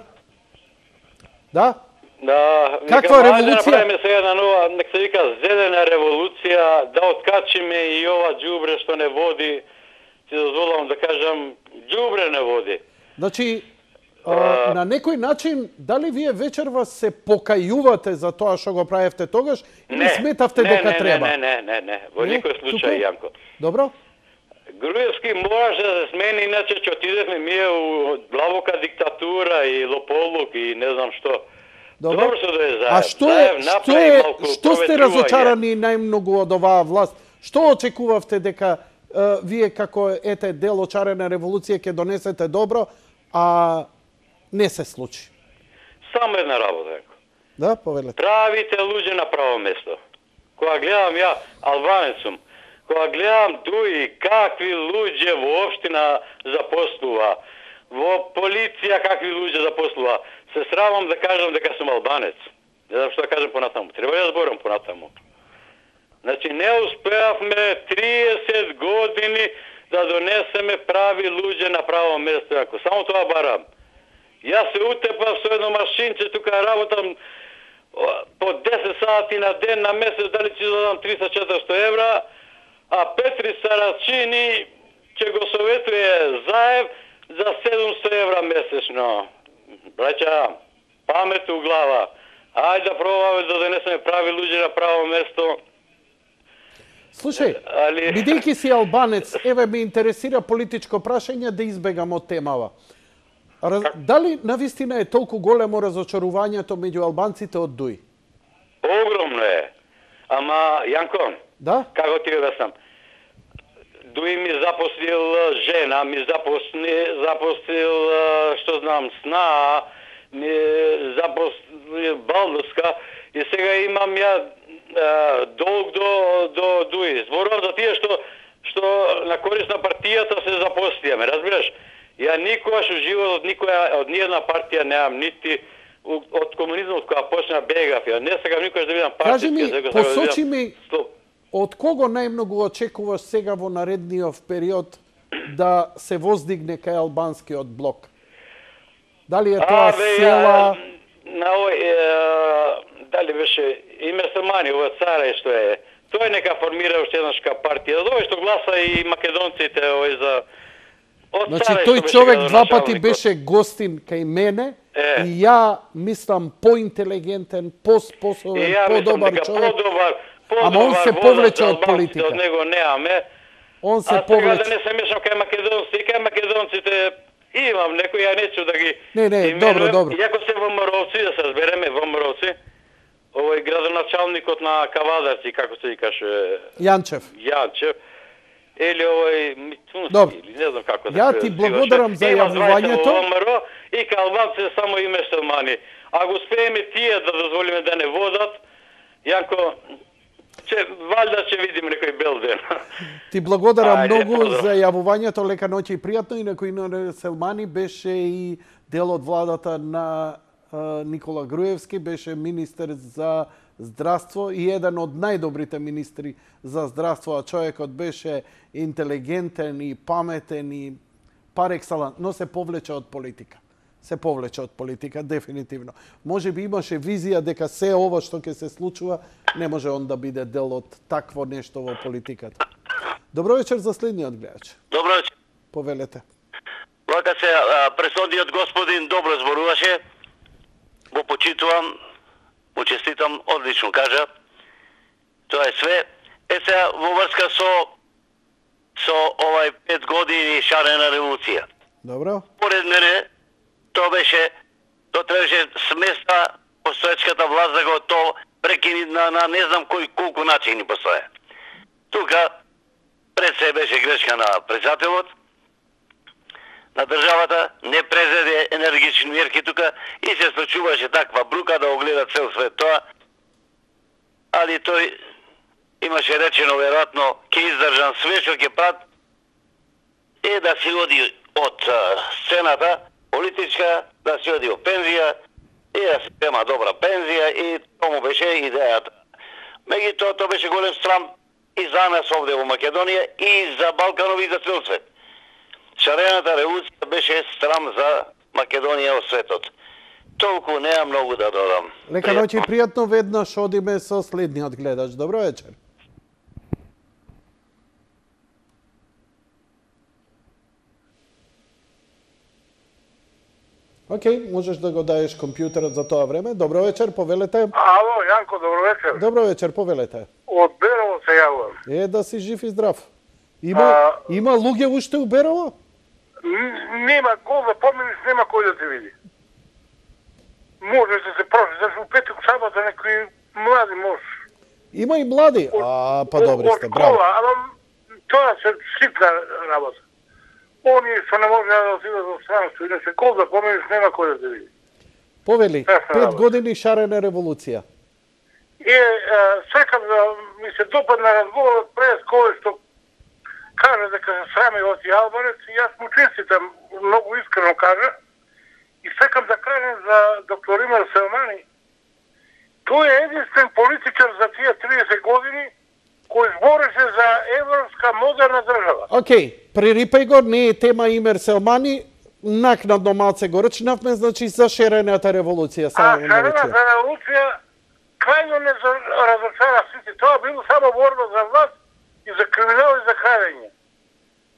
Да? Да, каква револуција? Ајде да направиме сега една нова, нека се вика зелена револуција, да откачиме и ова џубре што не води, си дозволам да кажам, џубре не води. Значи, на некој начин, дали вие вечерва се покајувате за тоа што го правевте тогаш или сметавте дека треба? Не, во никој случај, Јанко. Добро? Груевски мораше да се смени, иначе ќе отидевме ние у длабока диктатура и лополук и не знам што. Добро што да е заед. А што сте разочарани најмногу од оваа власт? Што очекувавте дека вие како дел од шарена револуција ќе донесете добро, а не се случи? Само една работа. Да, повелете. Правите луѓе на право место. Кога гледам ја, албанец сум, кога гледам дуи какви луѓе во општина запослува, во полиција какви луѓе запослува, се срамам да кажам дека сум албанец. Не знам што да кажам понатаму. Треба да зборам понатаму. Значи, не успеавме 30 години да донесеме прави луѓе на право место. Ако само тоа барам. Јас се утепав со едно машинче, тука работам по 10 сати на ден, на месец, дали ќе дадам 300-400 евра, а Петри Сарачини ќе го советуе заев за 700 евра месечно. Браќа, памет у глава. Ајде да пробаме да донесеме прави луѓе на право место. Слушај, бидејќи си албанец, еве ме интересира политичко прашање да избегам од темава. Дали навистина е толку големо разочарувањето меѓу албанците од ДУИ? Огромно е. Ама, Јанко, да? Како ти објаснам? ДУИ ми запослил жена, ми запослил, што знам, сна, ми запослил балдуска и сега имам ја долг до ДУИ. Зборувам за тие што на корист на партијата се запослијаме, разбираш? Ја никогаш у животот од ниједна партија немам, нити од комунизмот кога почна бегав. Ја не сакам никогаш да видам партија. Кажи ми, посочи ми, од кого најмногу очекуваш сега во наредниот период да се воздигне кај албанскиот блок? Дали е тоа села? Дали беше име Самани, ова царе што е. Тој нека формира уште еднашка партија. Овој што гласа и македонците овој за Значи, тој човек два пати беше гостин кај мене и ја мислам поинтелигентен, поспособен, подобар човек. Ама он се повлече од политика. Од него неаме. Он се повлече. А сега да не се мешам кај македонците, имам некој, ја нечу да ги... Не, добро. Иако се ВМРО-ци, да се збереме, ВМРО-ци, овој градоначалникот на Кавадарци, како се викаше... Јанчев. Или овој Мицунски, или не знам како да ја ти благодарам за јавувањето. И кај албанците само име Селмани. Ако успееме тие да дозволиме да не водат, Јанко, валјда ќе видиме некој бел ден. Ти благодарам многу за јавувањето, лека ноќе и пријатно. Инаку Ино Селмани беше и дел од владата на Никола Груевски, беше министер за здравство и еден од најдобрите министри за здравство, а човекот беше интелигентен и паметен и пар екселанс, но се повлече од политика. Дефинитивно. Може би имаше визија дека се ова што ќе се случува не може он да биде дел од такво нешто во политиката. Добро вечер за следниот гледач. Добро вечер. Повелете. Вака се пресодниот господин добро зборуваше. Го почитувам. Учеститам, одлично кажа. Тоа е све. Сега во врска со овај 5 години шарена револуција. Добро. Поред мене, тоа требаше сместа постоечката власт да го то прекини на не знам колку начини постоја. Тука пред се беше грешка на председателот, на државата, не презеде енергични мерки тука и се случуваше таква брука да огледа цел свет тоа. Али тој имаше речено веројатно ќе издржам све што ќе прат да си оди од сцената, политичка, да си оди во пензија и да се зема добра пензија и тоа беше идејата. Меѓутоа тоа беше голем срам и за нас овде во Македонија и за Балканов и за цел свет. Шарената револуција беше срам за Македонија во светот. Толку неа многу да додам. Лека ноќ и пријатно, веднаш одиме со следниот гледач. Добро вечер. Океј, можеш да го даеш компјутерот за тоа време. Добро вечер, повелете. Ало, Јанко, добро вечер. Добро вечер, повелете. Од Берово се јавувам. Да си жив и здрав. Има луѓе уште у Берово? Нема, гол да поминиш, нема кој да те види. Може да се професор у петок сабота некои млади може. Има и млади. Па добри сте, браво. Од кола, ама тоа се ситна работа. Они што не може да отидат во странство, иначе гол да поминиш, нема кој да те види. Повели, 5 години шарена револуција. Секам да ми се допадна разговорот пред кој што кажа дека се срами од Албанец и јас му честитам, многу искрено кажа. И секам да кажем за доктор Имер Селмани. Тој е единствен политичар за тие 30 години кој збореше за европска модерна држава. Океј, прерипај го, не е тема Имер Селмани, накнадно малце го рчнавме, значи за шарената револуција. Шарената револуција крајно не разочара сите. Тоа било само борба за власт и за криминал и за крадење.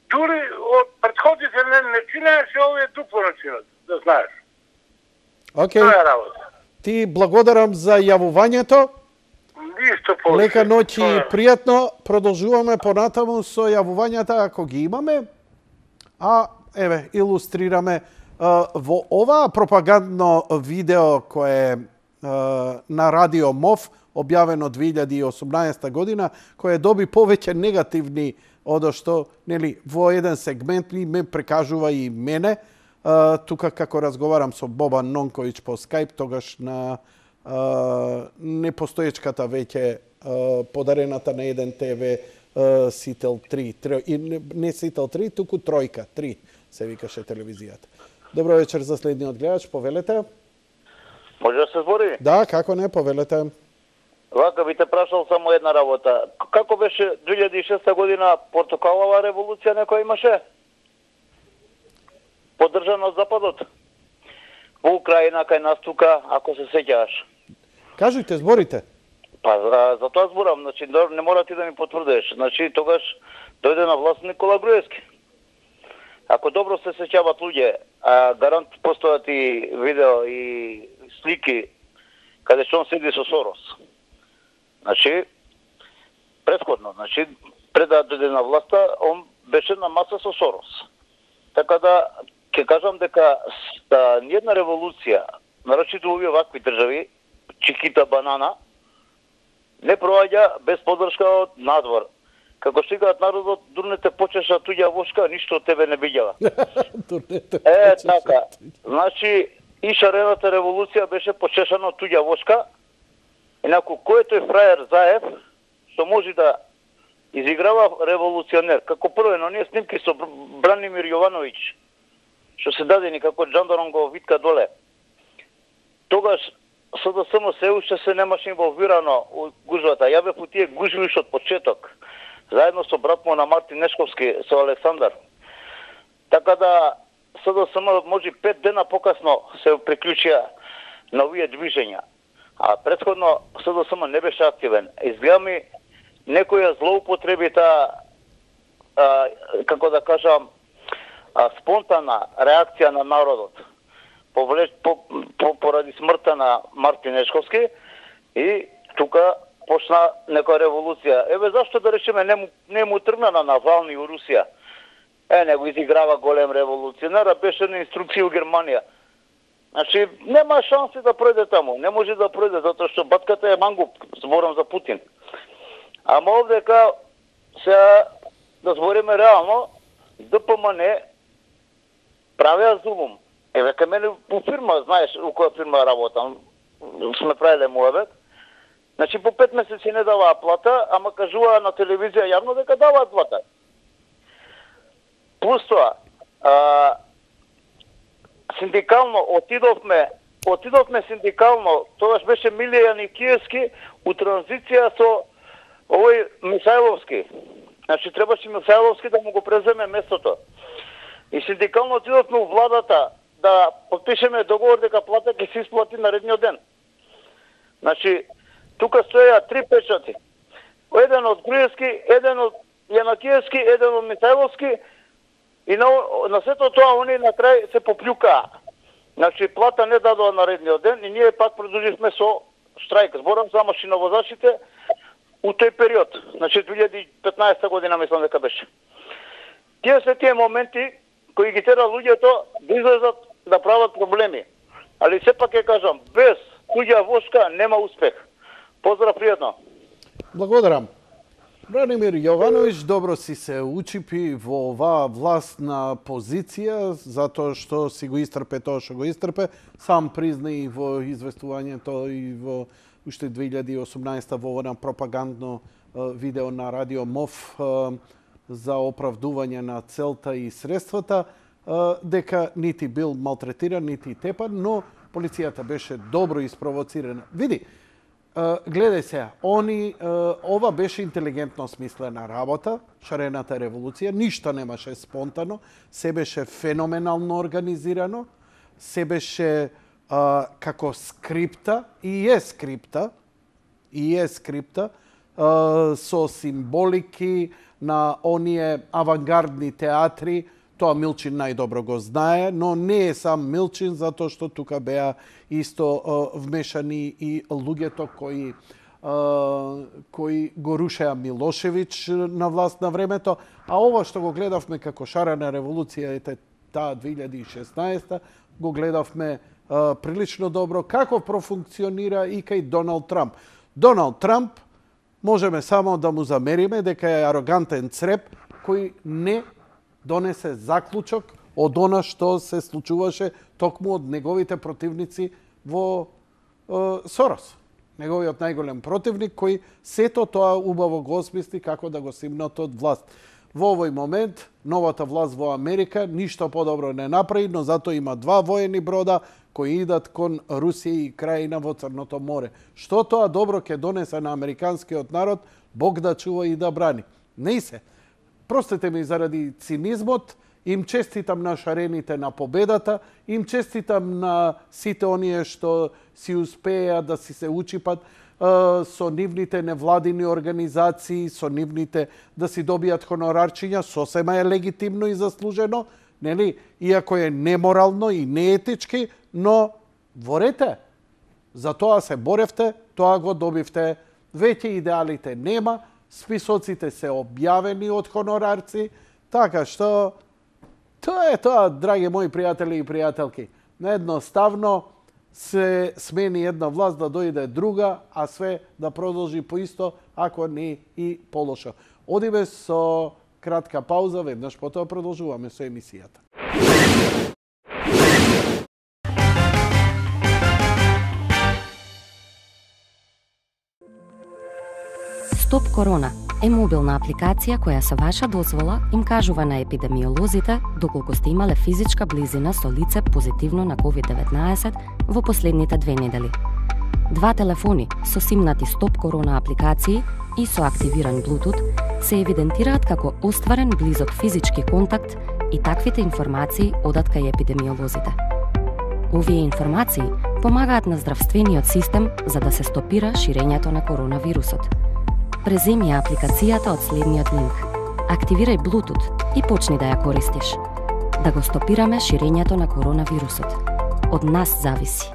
Дури од претходите не чинаеше, овие дупло начинат, да знаеш. Океј. Тоа е работа. Ти благодарам за јавувањето. Ништо повеќе. Лека ноќ и пријатно. Продолжуваме понатаму со јавувањата ако ги имаме. Еве, илустрираме во ова пропагандно видео кое на Радио МОВ, објавено 2018 година, кое доби повеќе негативни одо што, нели, во еден сегмент ме прекажува и мене, тука како разговарам со Бобан Нонковиќ по Скајп, тогаш на непостоечката веќе подарената на 1 ТВ Сител 3, не Сител 3, туку Тројка 3 се викаше телевизијата. Добро вечер за следниот гледач, повелете. Може да се збори? Да, како не, повелете. Вака би те прашал само една работа. Како беше 2006 година портокалова револуција некоја имаше? Поддржана од Западот? Во Украина, кај нас тука, ако се сеќаваш. Кажете, зборите. Па, за тоа зборам, значи не мора ти да ми потврдиш. Значи тогаш дојде на власт Никола Груевски. Ако добро се сеќават луѓе, гарант постојат и видео и слики каде што он седи со Сорос. Значи, претходно, пред да дојде на власта, он беше на маса со Сорос. Така да, ќе кажам дека ниједна револуција, нарочито овие вакви држави, Чикита банана, не проаѓа без поддршка од надвор. Како стигаат народот, дурнете почеша туѓа вошка, ништо од тебе не биѓава. Така. Значи, и шарената револуција беше почешана од туѓа вошка. Инаку, кој е тој фраjer Заев, што може да изиграва револуционер? Како прво, но ние снимки со Бранимир Јовановиќ, што се дадени како жандаром го витка доле. Тогаш СДСМ се уште се немаше инволвирано у гужвата. Ја бев у тие гужви уште од почеток, заедно со брат му на Мартин Нешковски, со Александар. Така да СДСМ може 5 дена покасно се приклучија на овие движења. А претходно СДСМ не беше активен. Изгледа ми некоја злоупотреби како да кажам, спонтана реакција на народот поради смртта на Мартин Нешковски и тука почна некоја револуција. Еве зашто да речеме не му тргна на Навални у Русија. Не го изиграва голем револуционер, беше на инструкција у Германија. Значи, нема шанси да пројде таму. Не може да пројде, затоа што батката е мангуп, зборам за Путин. Ама овдека, сега да збориме реално, ДПМН правеа зулум. Еве, кај мене у фирма, знаеш, у која фирма работам, сме правиле муабет. Значи, по 5 месеци не даваа плата, ама кажуваа на телевизија јавно дека даваат плата. Плюс тоа, синдикално отидовме синдикално, тогаш беше Милија Никиевски у транзиција со овој Мисајловски. Значи требаше Мисајловски да му го преземе местото. И синдикално отидовме у владата да подпишеме договор дека плата ќе се исплати наредниот ден. Значи тука стоја 3 печати. Еден од Груевски, еден од Јанакиевски, еден од Мисајловски и на сето тоа они на крај се поплюкаа. Значи плата не дадоа наредниот ден и ние пак продолживме со штрајк. Зборам за машиновозачите у тој период. Значи 2015 година мислам дека беше. Тие се тие моменти кои ги тера луѓето да излезат да прават проблеми. Али сепак ќе кажам, без туѓа вошка нема успех. Поздрав пријатно. Благодарам. Бранимир Јовановиќ добро си се учипи во оваа властна позиција, затоа што си го истрпе тоа што го истрпе. Сам призна и во известувањето и во уште 2018 во она пропагандно видео на Радио МОВ за оправдување на целта и средствата, дека нити бил малтретиран, нити тепан, но полицијата беше добро испровоцирана. Види, гледај се, ова беше интелигентно смислена работа, шарената револуција, ништо немаше спонтано, се беше феноменално организирано, се беше како скрипта, и е скрипта, со символики на оние авангардни театри. Тоа Милчин најдобро го знае, но не е сам Милчин, затоа што тука беа исто вмешани и луѓето кои го рушеа Милошевиќ на власт на времето, а ова што го гледавме како шарена револуција таа 2016, го гледавме прилично добро како профункционира и кај Доналд Трамп. Доналд Трамп можеме само да му замериме дека е арогантен цреп кој не донесе заклучок од она што се случуваше токму од неговите противници во Сорос. Неговиот најголем противник кој сето тоа убаво го осмисли како да го симнат од власт. Во овој момент новата власт во Америка ништо подобро не направи, но зато има 2 воени брода кои идат кон Русија и крајина во Црното море. Што тоа добро ќе донесе на американскиот народ, Бог да чува и да брани. Не се. Простете ми заради цинизмот, им честитам на шарените на победата, им честитам на сите оние што си успеа да си се учипат со нивните невладини организации, со нивните да си добијат хонорарчиња, сосема е легитимно и заслужено, нели? Иако е неморално и неетички, но ворете. За тоа се боревте, тоа го добивте. Веќе идеалите нема, списоците се објавени од хонорарци, така што тоа е тоа, драги мои пријатели и пријателки. Едноставно се смени една власт да дојде друга, а све да продолжи поисто, ако не и полошо. Одиме со кратка пауза, веднаш потоа продолжуваме со емисијата. Стоп Корона е мобилна апликација која со ваша дозвола им кажува на епидемиолозите доколку сте имале физичка близина со лице позитивно на COVID-19 во последните 2 недели. 2 телефони со симнати Стоп Корона апликации и со активиран Bluetooth се евидентираат како остварен близок физички контакт и таквите информации одат кај епидемиолозите. Овие информации помагаат на здравствениот систем за да се стопира ширењето на коронавирусот. Преземи ја апликацијата од следниот линк. Активирај Bluetooth и почни да ја користиш. Да го стопираме ширењето на коронавирусот. Од нас зависи.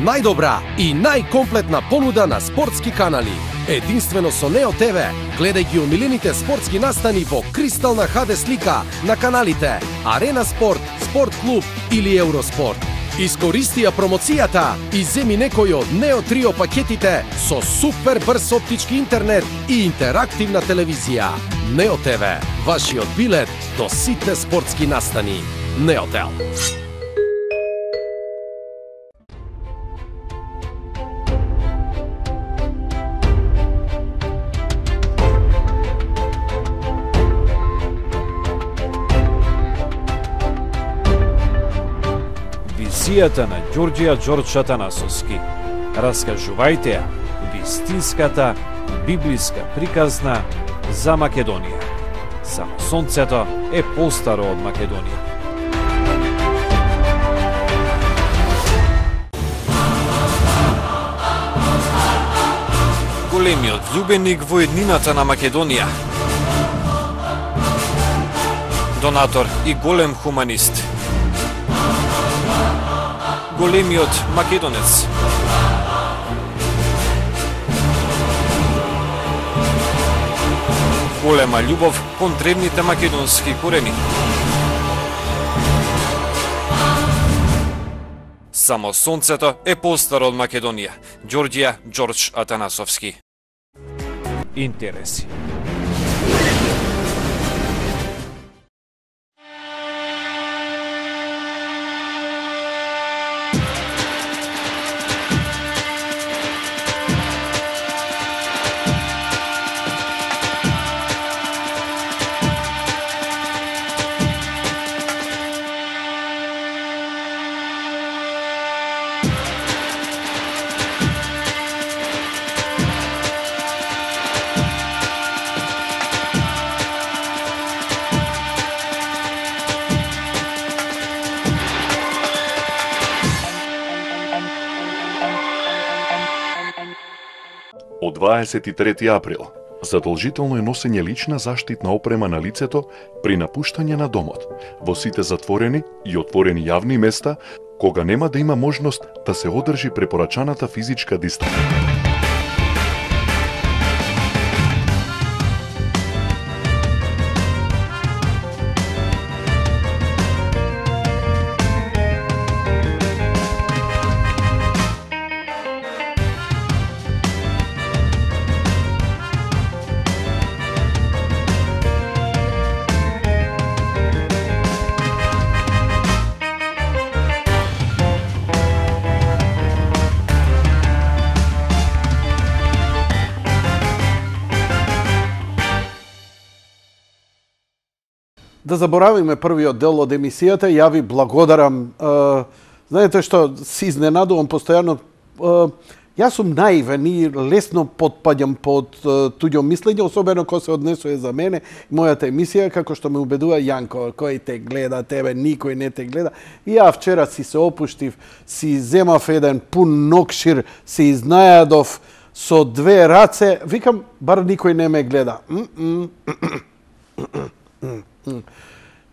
Најдобра и најкомплетна понуда на спортски канали. Единствено со Нео ТВ. Гледај ги омилените спортски настани во кристална HD слика на каналите Арена Спорт, Спорт Клуб или Евроспорт. Искористи ја промоцијата и земи некој од Нео Трио пакетите со супер брз оптички интернет и интерактивна телевизија. Нео ТВ, вашиот билет до сите спортски настани. Неотел. емисијата на Ѓорѓија Ѓордж Атанасовски. Раскажувајте ја вистинската библиска приказна за Македонија. Само сонцето е постаро од Македонија. Големиот љубеник во еднината на Македонија. Донатор и голем хуманист. Големиот македонец. Голема љубов кон древните македонски корени. Само сонцето е постаро од Македонија. Ѓорѓија Ѓордж Атанасовски. Интереси. Од 23 април, задолжително е носење лична заштитна опрема на лицето при напуштање на домот, во сите затворени и отворени јавни места, кога нема да има можност да се одржи препорачаната физичка дистанца. Да заборавиме првиот дел од емисијата, ја ви благодарам. Знаете што, си изненадувам постојано. Јас сум наивен и лесно потпаѓам под туѓо мислење, особено кога се однесува за мене и мојата емисија, како што ме убедува Јанко, кој те гледа, тебе никој не те гледа. И ја вчера си се опуштив, си земав еден пун нокшир, си изнајадов со две раце, викам, бар никој не ме гледа.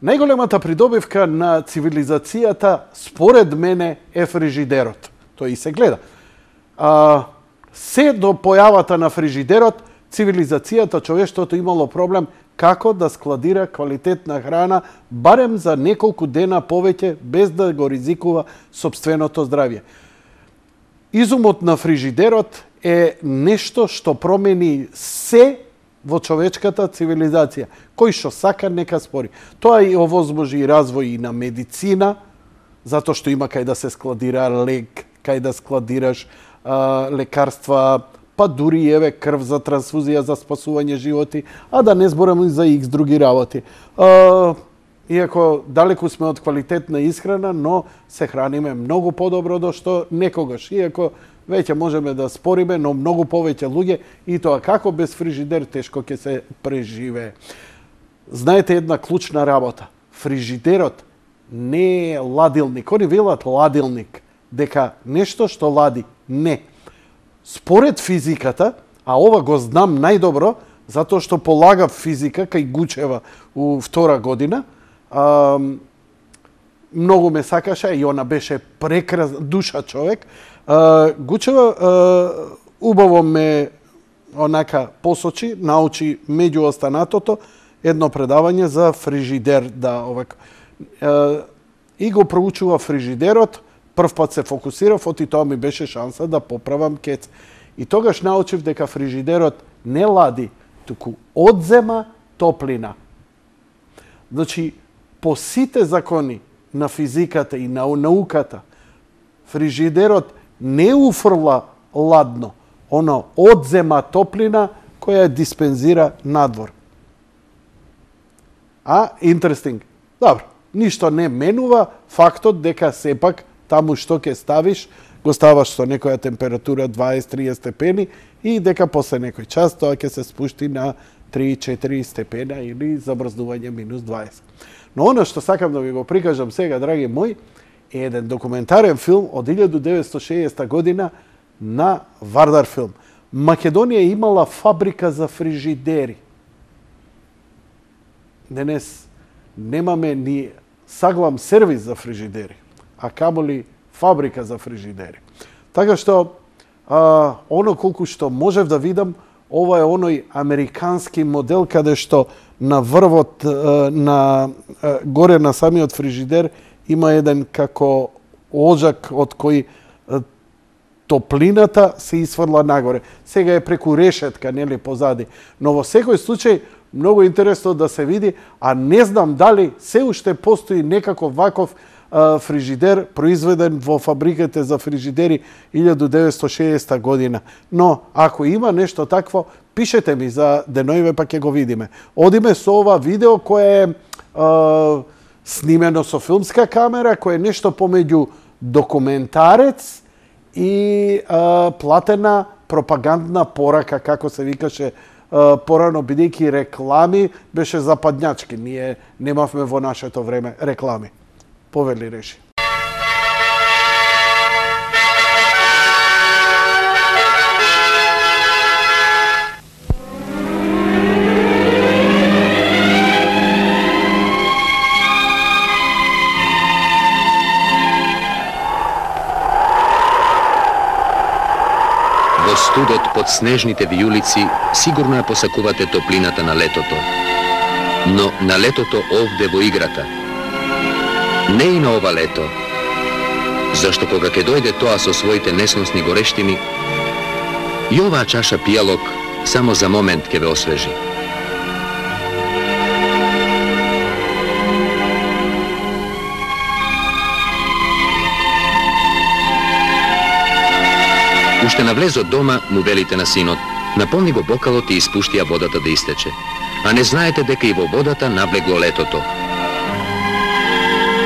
Најголемата придобивка на цивилизацијата, според мене, е фрижидерот. Тој и се гледа. Се до појавата на фрижидерот, цивилизацијата, човештвото имало проблем како да складира квалитетна храна, барем за неколку дена повеќе, без да го ризикува сопственото здравје. Изумот на фрижидерот е нешто што промени се во човечката цивилизација. Кој што сака, нека спори. Тоа и овозможи развој и на медицина, затоа што има кај да се складира лек, кај да складираш лекарства, па дури еве крв за трансфузија за спасување животи, а да не зборам и за икс други работи. Иако далеку сме од квалитетна исхрана, но се храниме многу подобро до што некогаш. Иако веќе можеме да спориме, но многу повеќе луѓе и тоа како без фрижидер тешко ќе се преживее. Знаете една клучна работа. Фрижидерот не е ладилник. Они велат ладилник, дека нешто што лади. Не. Според физиката, а ова го знам најдобро, затоа што полагав физика кај Гучева у втора година, многу ме сакаше и она беше прекрасна душа човек. Гучева убаво ме онака посочи, научи меѓу останатото едно предавање за фрижидер, да, овако. И го проучува фрижидерот, прв пат се фокусирав, оти тоа ми беше шанса да поправам кец. И тогаш научив дека фрижидерот не лади, туку одзема топлина. Значи, по сите закони на физиката и на науката, фрижидерот не уфрла ладно, оно одзема топлина која ја диспензира надвор. Интересинг. Добро, ништо не менува фактот дека сепак таму што ќе ставиш, го ставаш со некоја температура 20-30 степени и дека после некој час тоа ќе се спушти на 3-4 степена или замрзнување минус 20. Но оно што сакам да ви го прикажам сега, драги мои, е еден документарен филм од 1960 година на Вардар филм. Македонија имала фабрика за фрижидери. Денес немаме ни саглам сервис за фрижидери, а камоли фабрика за фрижидери. Така што, оно колку што можев да видам, ова е оној американски модел каде што на врвот, горе на самиот фрижидер, има еден како оджак од кој топлината се исфрла нагоре. Сега е преку решетка, нели, позади. Но во секој случај, многу интересно да се види, а не знам дали се уште постои некаков ваков фрижидер произведен во фабриките за фрижидери 1960 година. Но, ако има нешто такво, пишете ми за деноиве, па ќе го видиме. Одиме со ова видео кое е снимено со филмска камера, кое е нешто помеѓу документарец и платена пропагандна порака, како се викаше порано, бидејќи реклами беше западњачки. Ние немавме во нашето време реклами. Повели реши. Во студот под снежните вијулици сигурно ја посакувате топлината на летото. Но на летото овде во играта. Не и на ова лето. Зашто кога ќе дојде тоа со своите несносни горештини, и оваа чаша пијалок само за момент ќе ве освежи. Уште на влезот дома му велите на синот: наполни го бокалот и испушти ја водата да истече. А не знаете дека и во водата навлегло летото.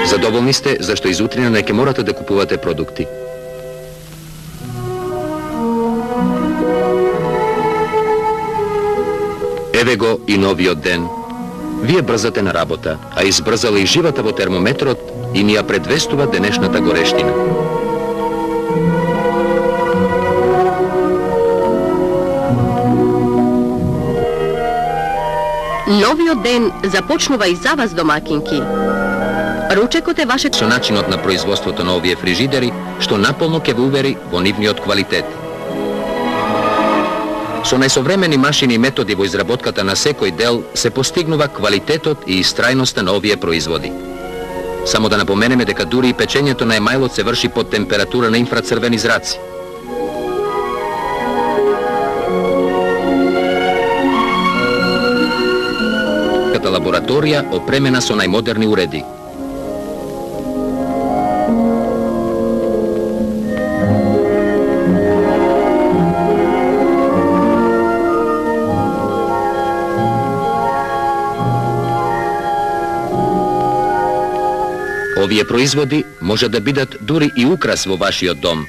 Задоволни сте зашто изутрина не ќе морате да купувате продукти. Еве го и новиот ден. Вие брзате на работа, а избрзала и живата во термометрот и ни ја предвестува денешната горештина. Новиот ден започнува и за вас, домакинки. Ручекот е ваше со начинот на производството на овие фрижидери, што наполно ќе ве увери во нивниот квалитет. Со најсовремени машини и методи во изработката на секој дел се постигнува квалитетот и истрајноста на овие производи. Само да напоменеме дека дури и печењето на емајлот се врши под температура на инфрацрвени зраци. Лабораторија опремена со најмодерни уреди. Овие производи може да бидат дури и украс во вашиот дом.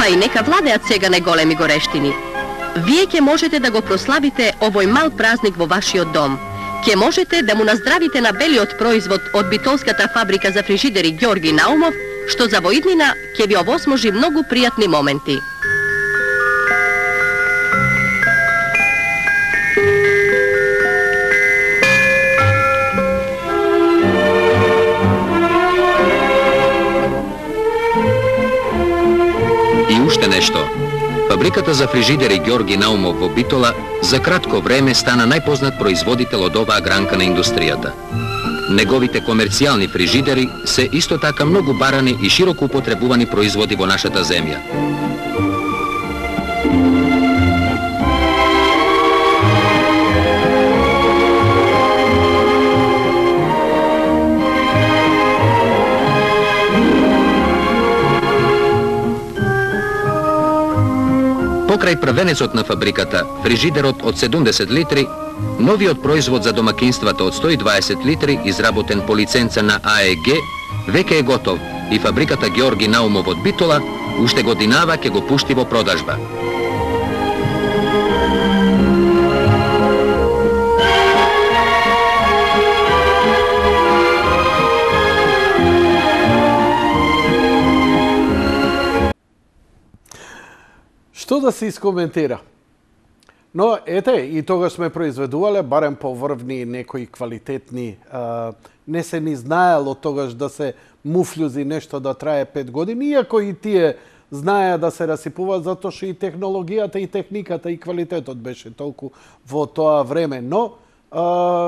И нека владеат сега неголеми горештини. Вие ќе можете да го прославите овој мал празник во вашиот дом. Ќе можете да му наздравите на белиот производ од битолската фабрика за фрижидери Ѓорги Наумов, што за воиднина ќе ви овосможи многу пријатни моменти. Уште нешто. Фабриката за фрижидери Ѓорги Наумов во Битола за кратко време стана најпознат производител од оваа гранка на индустријата. Неговите комерцијални фрижидери се исто така многу барани и широко употребувани производи во нашата земја. Покрај првенецот на фабриката, фрижидерот од 70 литри, новиот производ за домакинствата од 120 литри, изработен по лиценца на АЕГ, веќе е готов и фабриката Георги Наумов од Битола уште годинава ќе го пушти во продажба. Што да се искоментира? Но, ете, и тогаш сме произведувале, барем поврвни некои квалитетни, не се ни знаело тогаш да се муфлюзи нешто да трае 5 години, иако и тие знаеа да се расипуваат, затоа што и технологијата, и техниката, и квалитетот беше толку во тоа време. Но,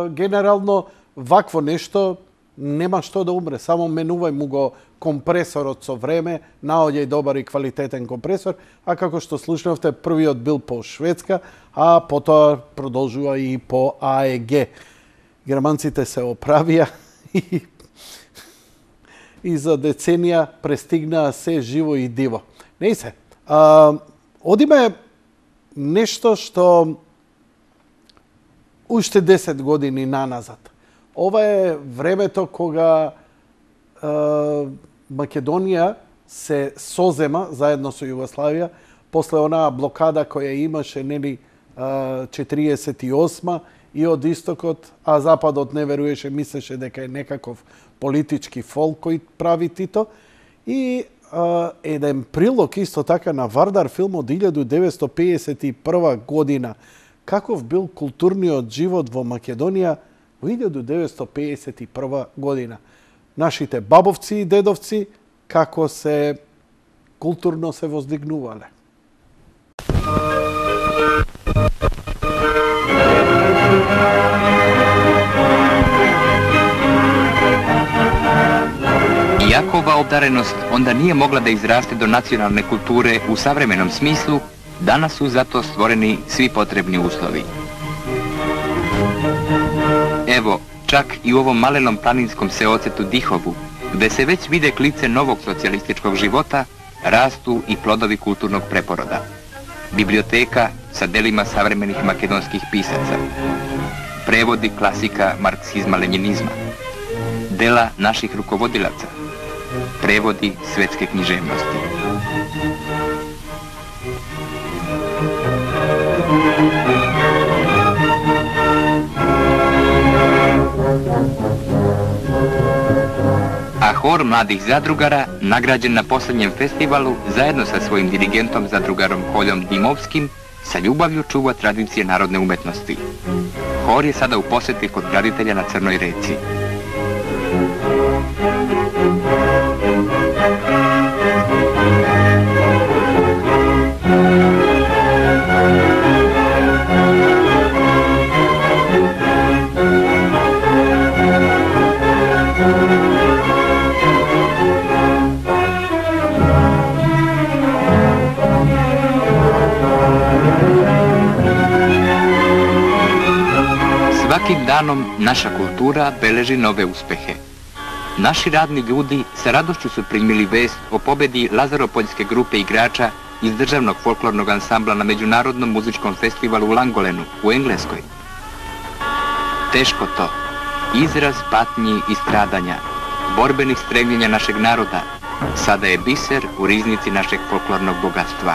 генерално, вакво нешто нема што да умре, само менувај му го компресорот со време, наоѓај добар и квалитетен компресор, а како што слушнавте, првиот бил по Шведска, а потоа продолжува и по АЕГ. Германците се оправија и за деценија престигнаа се живо и диво. Не се. Одиме нешто што уште 10 години наназад. Ова е времето кога Македонија се созема заедно со Југославија после онаа блокада која имаше, нели, 48 и од истокот, а западот не веруеше, мислеше дека е некаков политички фол кој прави Тито. И еден прилог исто така на Вардар филм од 1951 година. Каков бил културниот живот во Македонија во 1951 година. Нашите бабовци и дедовци како се културно се воздигнувале. Иако ова обдареност онда nije mogla da izraste do nacionalne kulture u savremenom smislu, danas su zato stvoreni svi potrebni uslovi. Evo, čak i u ovom malenom planinskom seocetu Dihovu, gde se već vide klice novog socijalističkog života, rastu i plodovi kulturnog preporoda. Biblioteka sa delima savremenih makedonskih pisaca, prevodi klasika marksizma-lenjinizma, dela naših rukovodilaca, prevodi svetske književnosti. A hor mladih zadrugara, nagrađen na posljednjem festivalu, zajedno sa svojim dirigentom zadrugarom Holjom Dimovskim, sa ljubavlju čuva tradicije narodne umetnosti. Hor je sada u poseti kod graditelja na Crnoj reci. Svakim danom naša kultura beleži nove uspehe. Naši radni ljudi sa radošću su primili vest o pobedi Lazaropoljske grupe igrača iz državnog folklornog ansambla na Međunarodnom muzičkom festivalu u Langolenu u Engleskoj. Teško to, izraz patnji i stradanja, borbenih stremljenja našeg naroda, sada je biser u riznici našeg folklornog bogatstva.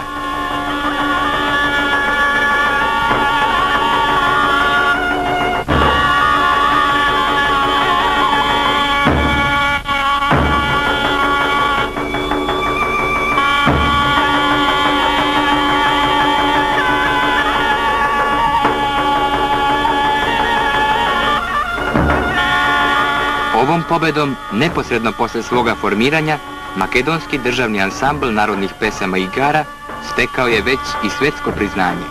Ovom pobedom, neposredno posle svoga formiranja, makedonski državni ansambl narodnih pesama i igara stekao je već i svetsko priznanje.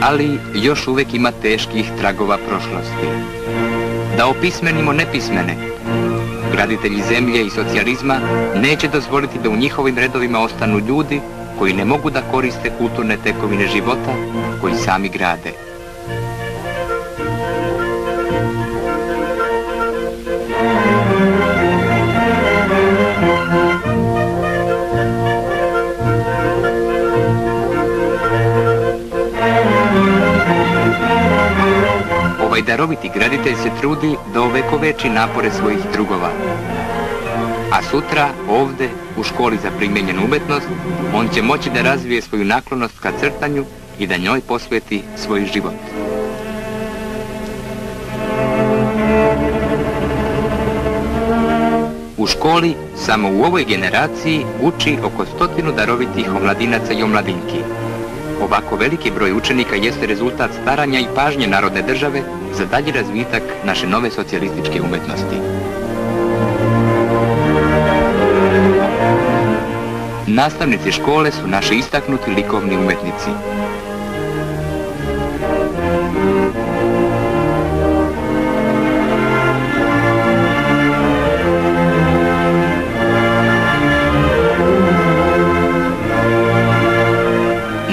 Ali još uvek ima teških tragova prošlosti. Da opismenimo nepismene, graditelji zemlje i socijalizma neće dozvoliti da u njihovim redovima ostanu ljudi koji ne mogu da koriste kulturne tekovine života koji sami grade. Ovaj daroviti graditelj se trudi da ovekoveči napore svojih drugova. A sutra, ovde, u školi za primenjenu umetnost, on će moći da razvije svoju naklonost ka crtanju i da njoj posveti svoj život. U školi, samo u ovoj generaciji, uči oko 100 darovitih omladinaca i omladinki. Ovako veliki broj učenika jeste rezultat staranja i pažnje narodne države za dalji razvitak naše nove socijalističke umetnosti. Nastavnici škole su naši istaknuti likovni umetnici.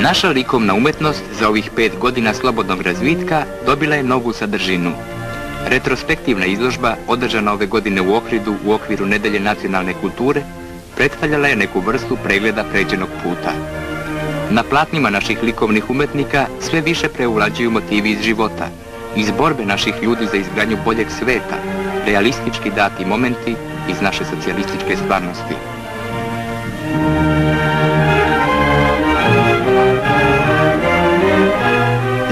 Naša likovna umetnost za ovih 5 godina slobodnog razvitka dobila je novu sadržinu. Retrospektivna izložba, održana ove godine u Ohridu u okviru Nedelje nacionalne kulture, predstavljala je neku vrstu pregleda pređenog puta. Na platnima naših likovnih umetnika sve više preuvlađuju motivi iz života, iz borbe naših ljudi za izgradnju boljeg sveta, realistički dati momenti iz naše socijalističke stvarnosti.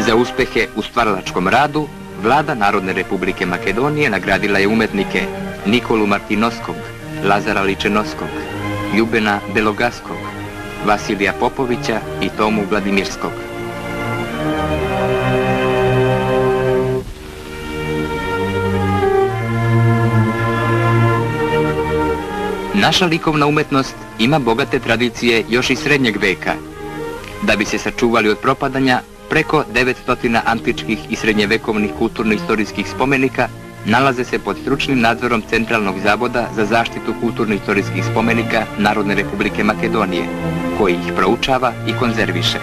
Za uspehe u stvaralačkom radu, Vlada Narodne Republike Makedonije nagradila je umetnike Nikolu Martinovskog, Lazara Ličenovskog, Ljubena Belogaskog, Vasilija Popovića i Tomu Vladimirskog. Naša likovna umetnost ima bogate tradicije još iz srednjeg veka. Da bi se sačuvali od propadanja, preko 900 antičkih i srednjevekovnih kulturno-istorijskih spomenika nalaze se pod stručnim nadzorom Centralnog zavoda za zaštitu kulturno-istorijskih spomenika Narodne Republike Makedonije, koji ih proučava i konzerviše.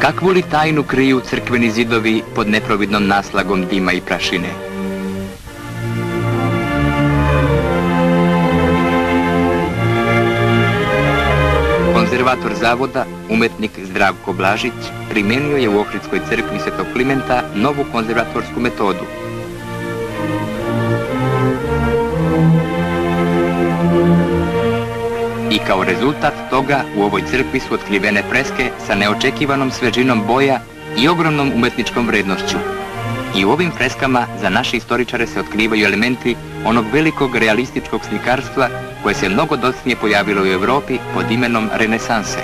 Kakvu li tajnu kriju crkveni zidovi pod neprovidnom naslagom dima i prašine? Konzervator zavoda, umetnik Zdravko Blažić, primenio je u Ohridskoj crkvi Svetog Klimenta novu konzervatorsku metodu. I kao rezultat toga u ovoj crkvi su otkrivene freske sa neočekivanom svežinom boja i ogromnom umetničkom vrednošću. I u ovim freskama za naše istoričare se otkrivaju elementi onog velikog realističkog slikarstva koje se mnogo docnije pojavilo u Evropi pod imenom renesanse.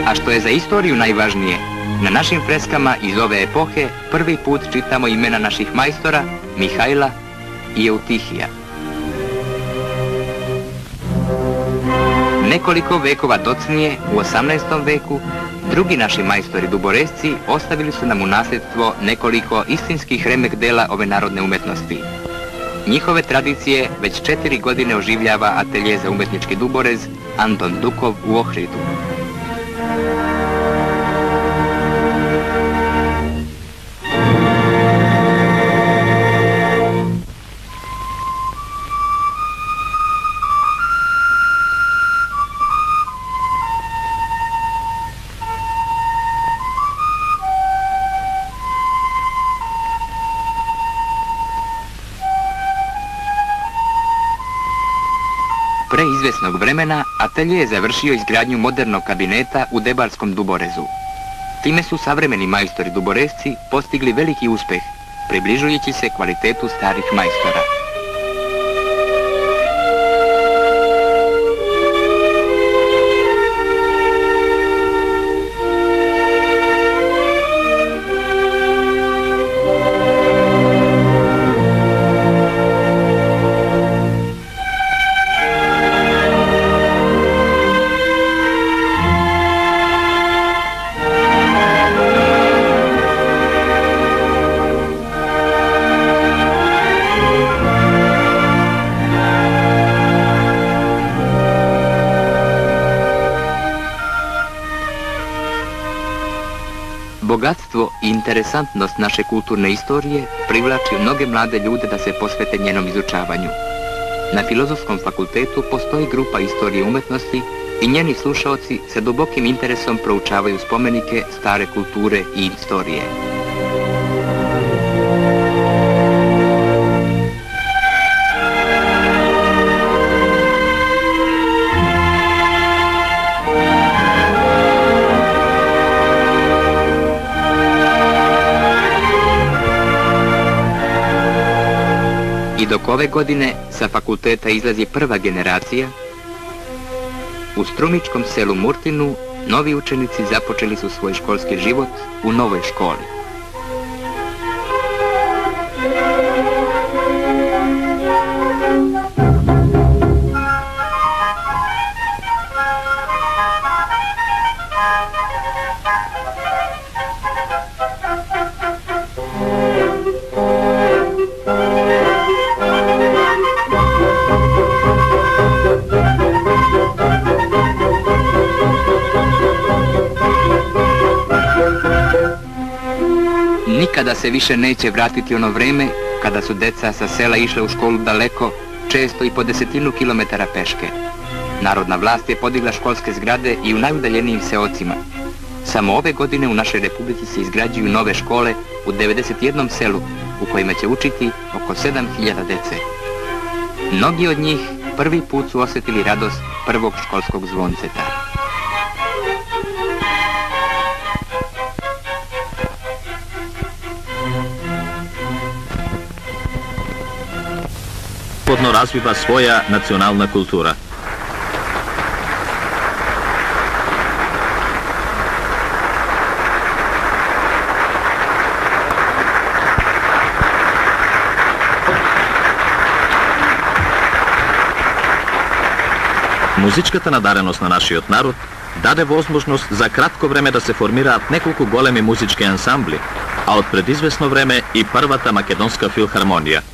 A što je za istoriju najvažnije, na našim freskama iz ove epohe prvi put čitamo imena naših majstora Mihajla i Eutihija. Nekoliko vekova docnije, u 18. veku, drugi naši majstori duboresci ostavili su nam u nasljedstvo nekoliko istinskih remek dela ove narodne umetnosti. Njihove tradicije već 4 godine oživljava atelje za umetnički duborez Anton Dukov u Ohridu. Pre izvesnog vremena, atelje je završio izgradnju modernog kabineta u Debarskom duborezu. Time su savremeni majstori duboresci postigli veliki uspeh, približujući se kvalitetu starih majstora. Bogatstvo i interesantnost naše kulturne istorije privlači mnoge mlade ljude da se posvete njenom izučavanju. Na Filozofskom fakultetu postoji grupa istorije umetnosti i njeni slušaoci sa dubokim interesom proučavaju spomenike, stare kulture i istorije. I dok ove godine sa fakulteta izlazi prva generacija, u strumičkom selu Murtinu novi učenici započeli su svoj školski život u novoj školi. Nikada se više neće vratiti ono vreme kada su deca sa sela išle u školu daleko, često i po 10 kilometara peške. Narodna vlast je podigla školske zgrade i u najudaljenijim seocima. Samo ove godine u našoj republici se izgrađuju nove škole u 91 selu u kojima će učiti oko 7000 dece. Mnogi od njih prvi put su osjetili radost prvog školskog zvonceta. Развива своја национална култура. Музичката надареност на нашиот народ даде возможност за кратко време да се формираат неколку големи музички ансамбли, а од предизвесно време и првата македонска филхармонија.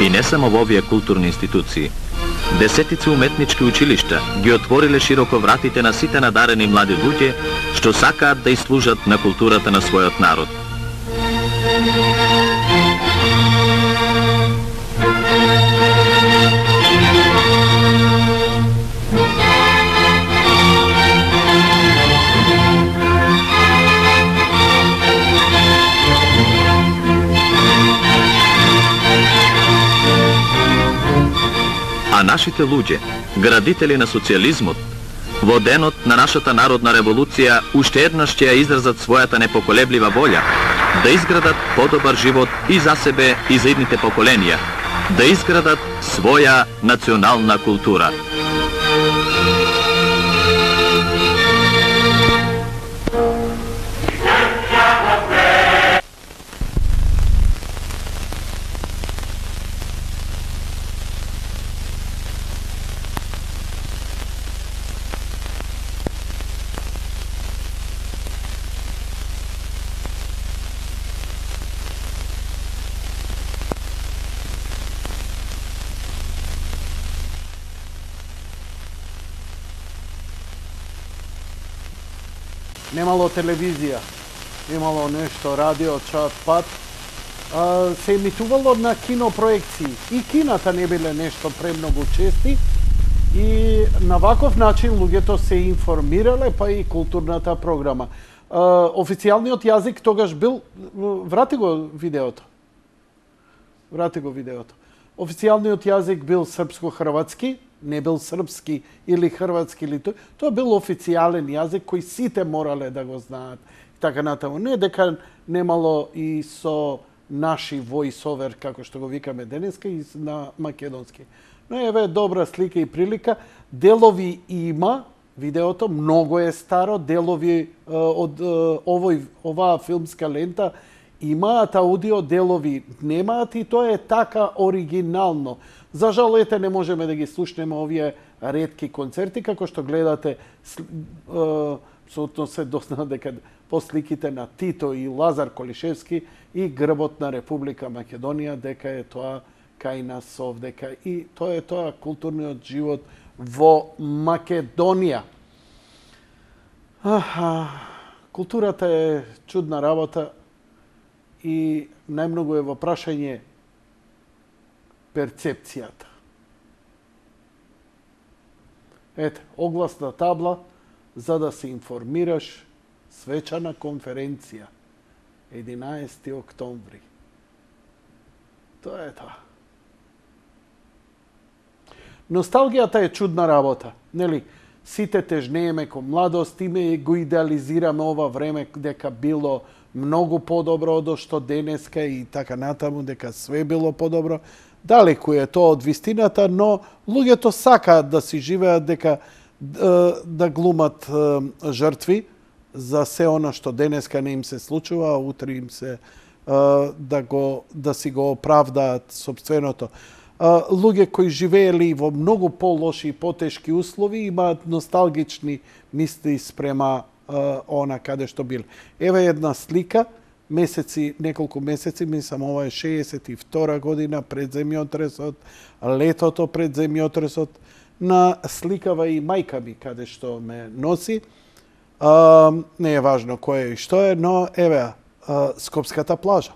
И не само во овие културни институции. Десетици уметнички училишта ги отвориле широко вратите на сите надарени млади луѓе што сакаат да служат на културата на својот народ. А нашите луѓе, градители на социјализмот, во денот на нашата народна револуција уште еднаш ќе ја изразат својата непоколеблива волја да изградат подобар живот и за себе и за идните поколенија, да изградат своја национална култура. Немало телевизија, немало нешто, радио, час, пат. Се емитувало на кинопроекции. И кината не биле нешто премногу чести. И на ваков начин луѓето се информирале, па и културната програма. Официјалниот јазик тогаш бил... Врати го видеото. Официјалниот јазик бил српско-хрватски, не бил српски или хрватски или тој. Тоа бил официјален јазик кој сите морале да го знаат. Така натаму. Не дека немало и со наши voice-over, како што го викаме денеска, и на македонски. Но еве добра слика и прилика. Делови има, видеото многу е старо, делови од оваа филмска лента имаат аудио, делови немаат и тоа е така оригинално. За жал, ете, не можеме да ги слушнеме овие ретки концерти, како што гледате, абсолютно се дозна дека по сликите на Тито и Лазар Колишевски и грбот на Република Македонија, дека е тоа кај нас овдека. И тоа е тоа културниот живот во Македонија. Културата е чудна работа и најмногу е во прашање перцепцијата. Ете, огласна табла за да се информираш, свечана конференција, 11. октомври. Тоа е тоа. Носталгијата е чудна работа, нели? Сите тежнееме кон младост, име го идеализираме ова време дека било многу подобро од што денеска и така натаму, дека све било подобро. Далеку е тоа од вистината, но луѓето сакаат да си живеат дека да глумат жртви за се она што денеска не им се случува, а утре им се да си го оправдаат собственото. Луѓе кои живеели во многу полоши и потешки услови имаат носталгични мисли спрема она каде што бил. Еве една слика, неколку месеци, мислам ова е 62 година пред земјотресот, летото пред земјотресот, на сликава и мајка ми каде што ме носи. Не е важно кој е и што е, но еве Скопската плажа.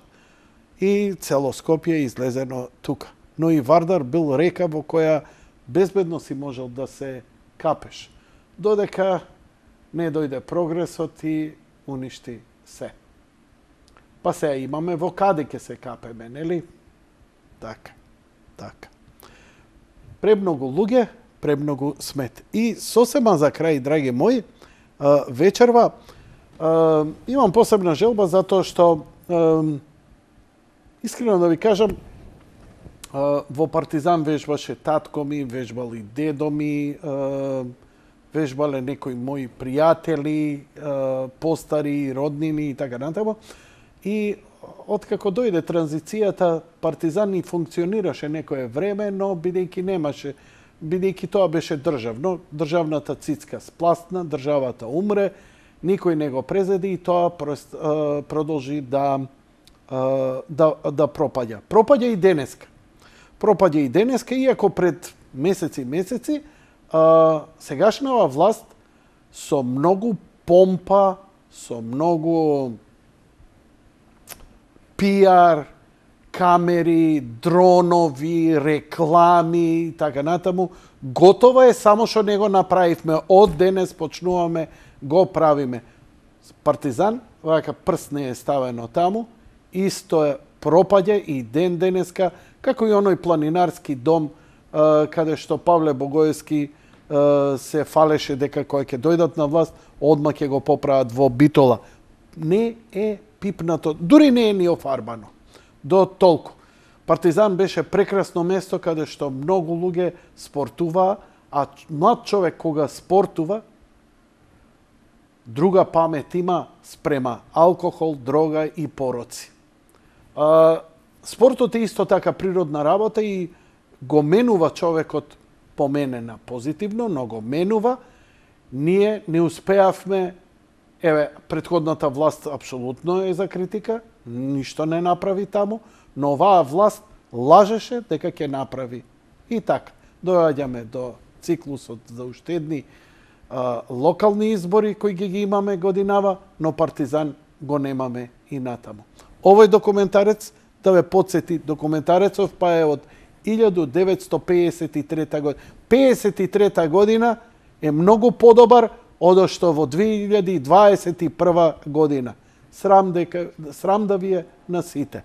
И цело Скопје излезено тука. Но и Вардар бил река во која безбедно си можел да се капеш. Додека не дојде прогресот и уништи се. Па сега имаме во каде ќе се капеме, нели? Така. Премногу луѓе, премногу смет. И сосема за крај, драги мои, вечерва имам посебна желба затоа што искрено да ви кажам, во Партизан вежбаше татко ми, вежбали дедо ми, вежбале некои мои пријатели, постари, роднини и така натаму. И откако дојде транзицијата, Партизан ни функционираше некое време, но бидејќи тоа беше државно, државната цицка спласна, државата умре, никој не го презеди и тоа продолжи да пропаѓа. Пропаѓа и денеска, иако пред месеци, сегашнава власт со многу помпа, со многу пиар, камери, дронови, реклами и така натаму, готова е, само што не го направивме. Од денес почнуваме, го правиме. Партизан, вака прст не е ставено таму, исто е пропаѓа и денеска, како и оној планинарски дом, каде што Павле Богоевски се фалеше дека кој ќе дојдат на власт, одма ќе го поправат во Битола. Не е пипнато, дури не е ни офарбано. До толку. Партизан беше прекрасно место каде што многу луѓе спортуваа, а млад човек кога спортува, друга памет има спрема алкохол, дрога и пороци. Спортот е исто така природна работа и го менува човекот поменена позитивно, но го менува. Ние не успеавме, претходната власт апсолутно е за критика, ништо не направи таму, но оваа власт лажеше дека ќе направи. И така, доаѓаме до циклусот за уште едни локални избори кои ги имаме годинава, но Партизан го немаме и натаму. Овој документарец, да ве подсети, документарецов па е од 1953 година. 53 година е многу подобар од што во 2021 година. Срам да ви е на сите.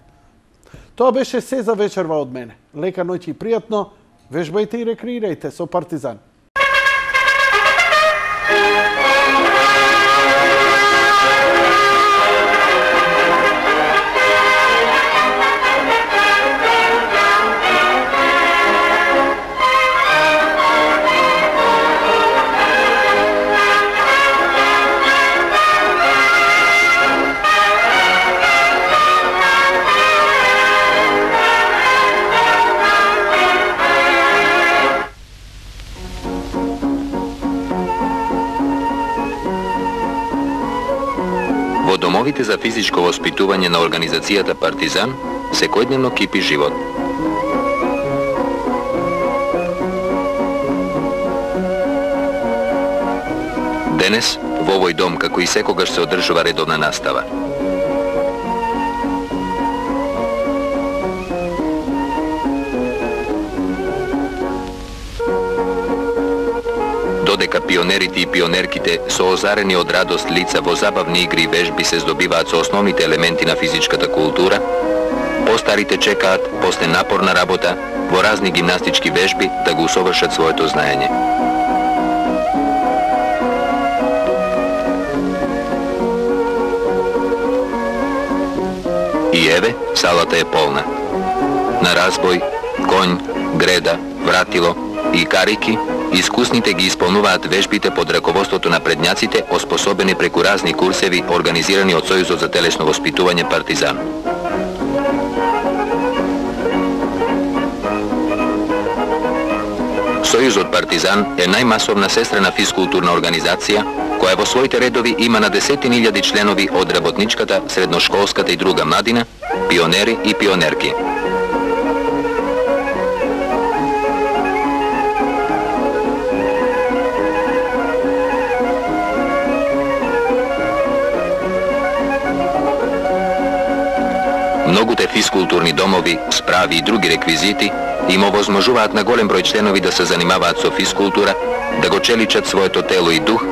Тоа беше се за вечерва од мене. Лека ноќ и пријатно. Вежбајте и рекреирајте со Партизан. Во домовите за физичко воспитување на организацијата Партизан секојдневно кипи живот. Денес, во овој дом, како и секогаш, се одржува редовна настава. Додека пионерите и пионерките со озарени од радост лица во забавни игри и вежби се здобиваат со основните елементи на физичката култура, постарите чекаат, после напорна работа, во разни гимнастички вежби да го усовршат своето знаење. И еве, салата е полна. На разбој, конј, греда, вратило и карики, искусните ги исполнуваат вежбите под раководството на предњаците, оспособени преку разни курсеви, организирани од Сојузот за телесно воспитување Партизан. Сојузот Партизан е најмасовна сестрена физкултурна организација, која во своите редови има на десетини илјади членови од работничката, средношколската и друга младина, пионери и пионерки. Многуте физкултурни домови, справи и други реквизити им овозможуваат на голем број членови да се занимаваат со физкултура, да го челичат своето тело и дух,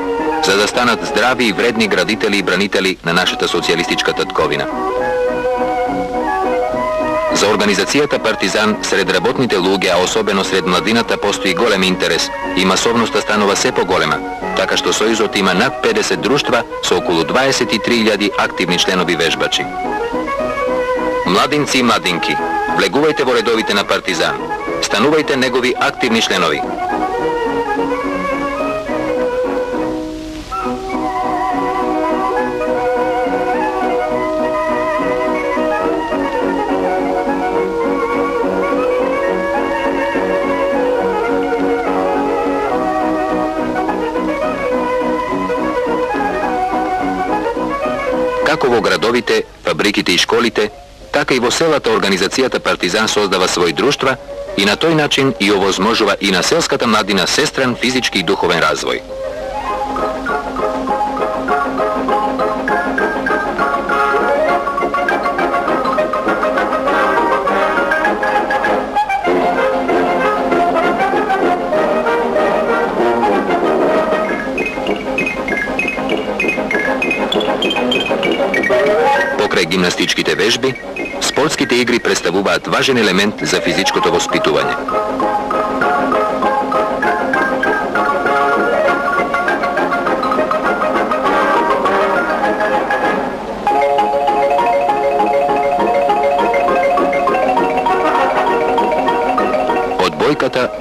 за да станат здрави и вредни градители и бранители на нашата социјалистичка татковина. За организацијата Партизан сред работните луѓе, а особено сред младината, постои голем интерес и масовноста станува се поголема, така што Сојузот има над 50 друштва со околу 23.000 активни членови вежбачи. Младинци и младинки, влегувајте во редовите на Партизан, станувајте негови активни членови. Како во градовите, фабриките и школите, така и во селата организацијата Партизан создава своји друштва и на тој начин и овозможува и на селската младина сестрен физички и духовен развој. Покрај гимнастичките вежби, спортските игри представуваат важен елемент за физичкото воспитување.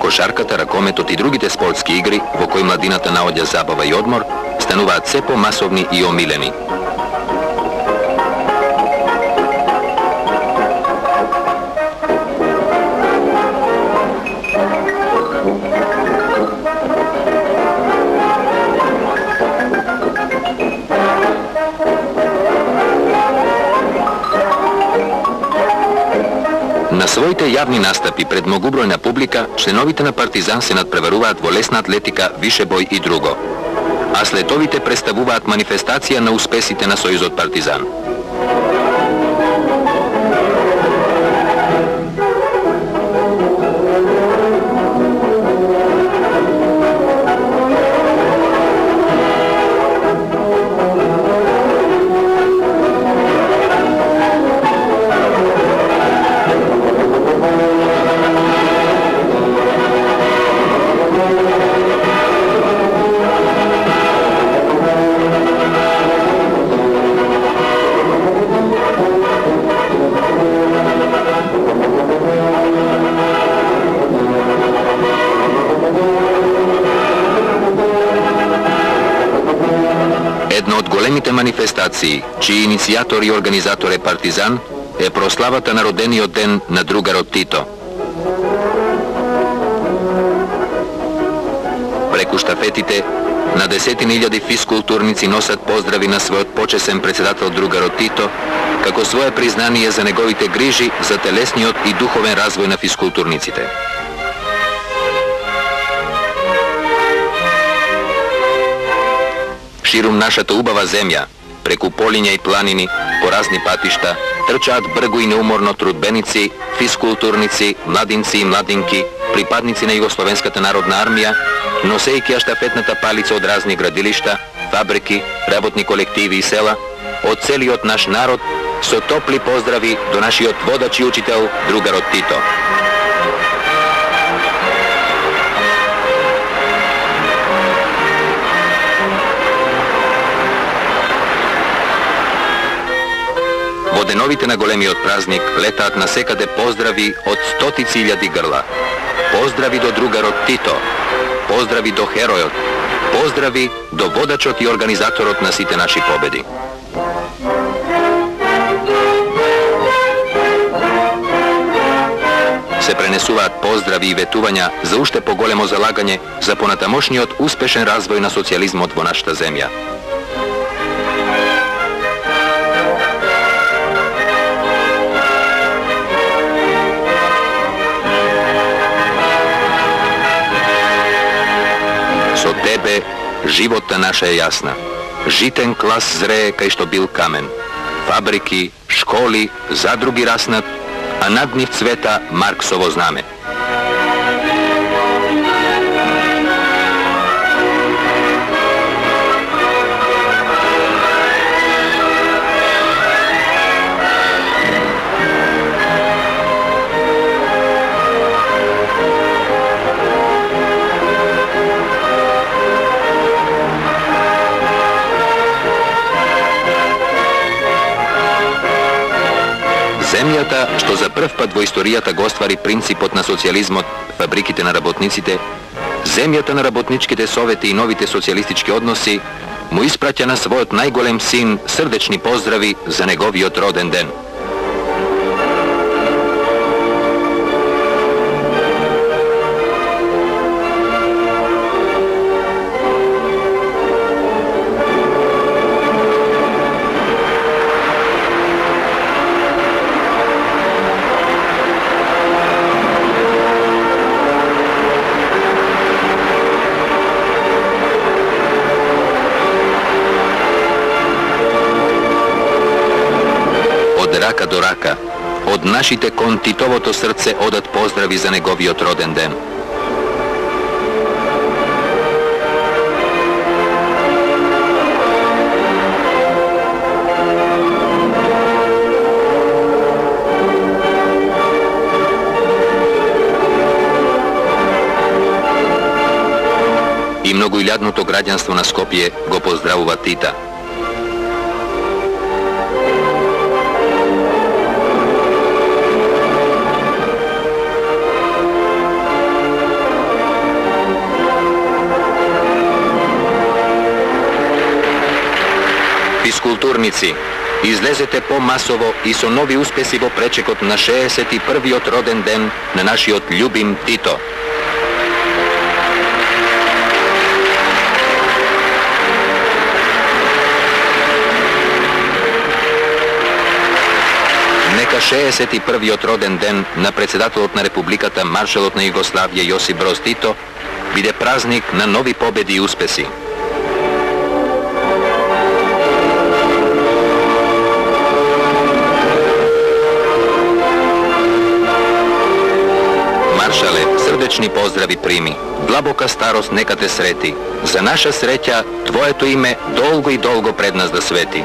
кошарката, ракометот и другите спортски игри во кои младината наоѓа забава и одмор, стануваат се помасовни и омилени. На своите јавни настапи пред многубројна публика, членовите на Партизан се надпреваруваат во лесна атлетика, вишебој и друго. А слетовите представуваат манифестација на успесите на Сојузот Партизан. Една од големите манифестации, чии иницијатор и организатор е Партизан, е прославата на родениот ден на другарот Тито. Преку штафетите, на десетини илјади физкултурници носат поздрави на својот почесен председател другарот Тито, како свое признание за неговите грижи за телесниот и духовен развој на физкултурниците. Ширум нашата убава земја, преку полиња и планини, по разни патишта, трчаат бргу и неуморно трудбеници, физкултурници, младинци и младинки, припадници на Југословенската народна армија, носејќи ја штафетната палица од разни градилишта, фабрики, работни колективи и села, од целиот наш народ, со топли поздрави до нашиот водач и учител, другарот Тито. Во деновите на големиот празник летаат насекаде поздрави од стотици илјади грла. Поздрави до другарот Тито, поздрави до херојот, поздрави до водачот и организаторот на сите наши победи. Се пренесуваат поздрави и ветувања за уште поголемо залагање за понатамошниот успешен развој на социјализмот во нашата земја. Со тебе животта наша е јасна. Житен клас зрее кај што бил камен. Фабрики, школи, задруги раснат, а над нив цвета Марксово знаме. Земјата, што за прв пат во историјата го оствари принципот на социјализмот, фабриките на работниците, земјата на работничките совети и новите социјалистички односи, му испраќа на својот најголем син срдечни поздрави за неговиот роден ден. Рака до рака, од нашите кон Титовото срце одат поздрави за неговиот роден ден. И многоилјадното граѓанство на Скопје го поздравува Тита. Физкултурници, излезете помасово и со нови успеси во пречекот на 61-виот роден ден на нашиот љубим Тито. Нека 61-виот роден ден на председателот на Републиката, маршалот на Југославија Јосип Броз Тито, биде празник на нови победи и успеси. Маршале, срдечни поздрави прими. Длабока старост нека те срети. За наша среќа, твоето име долго и долго пред нас да свети.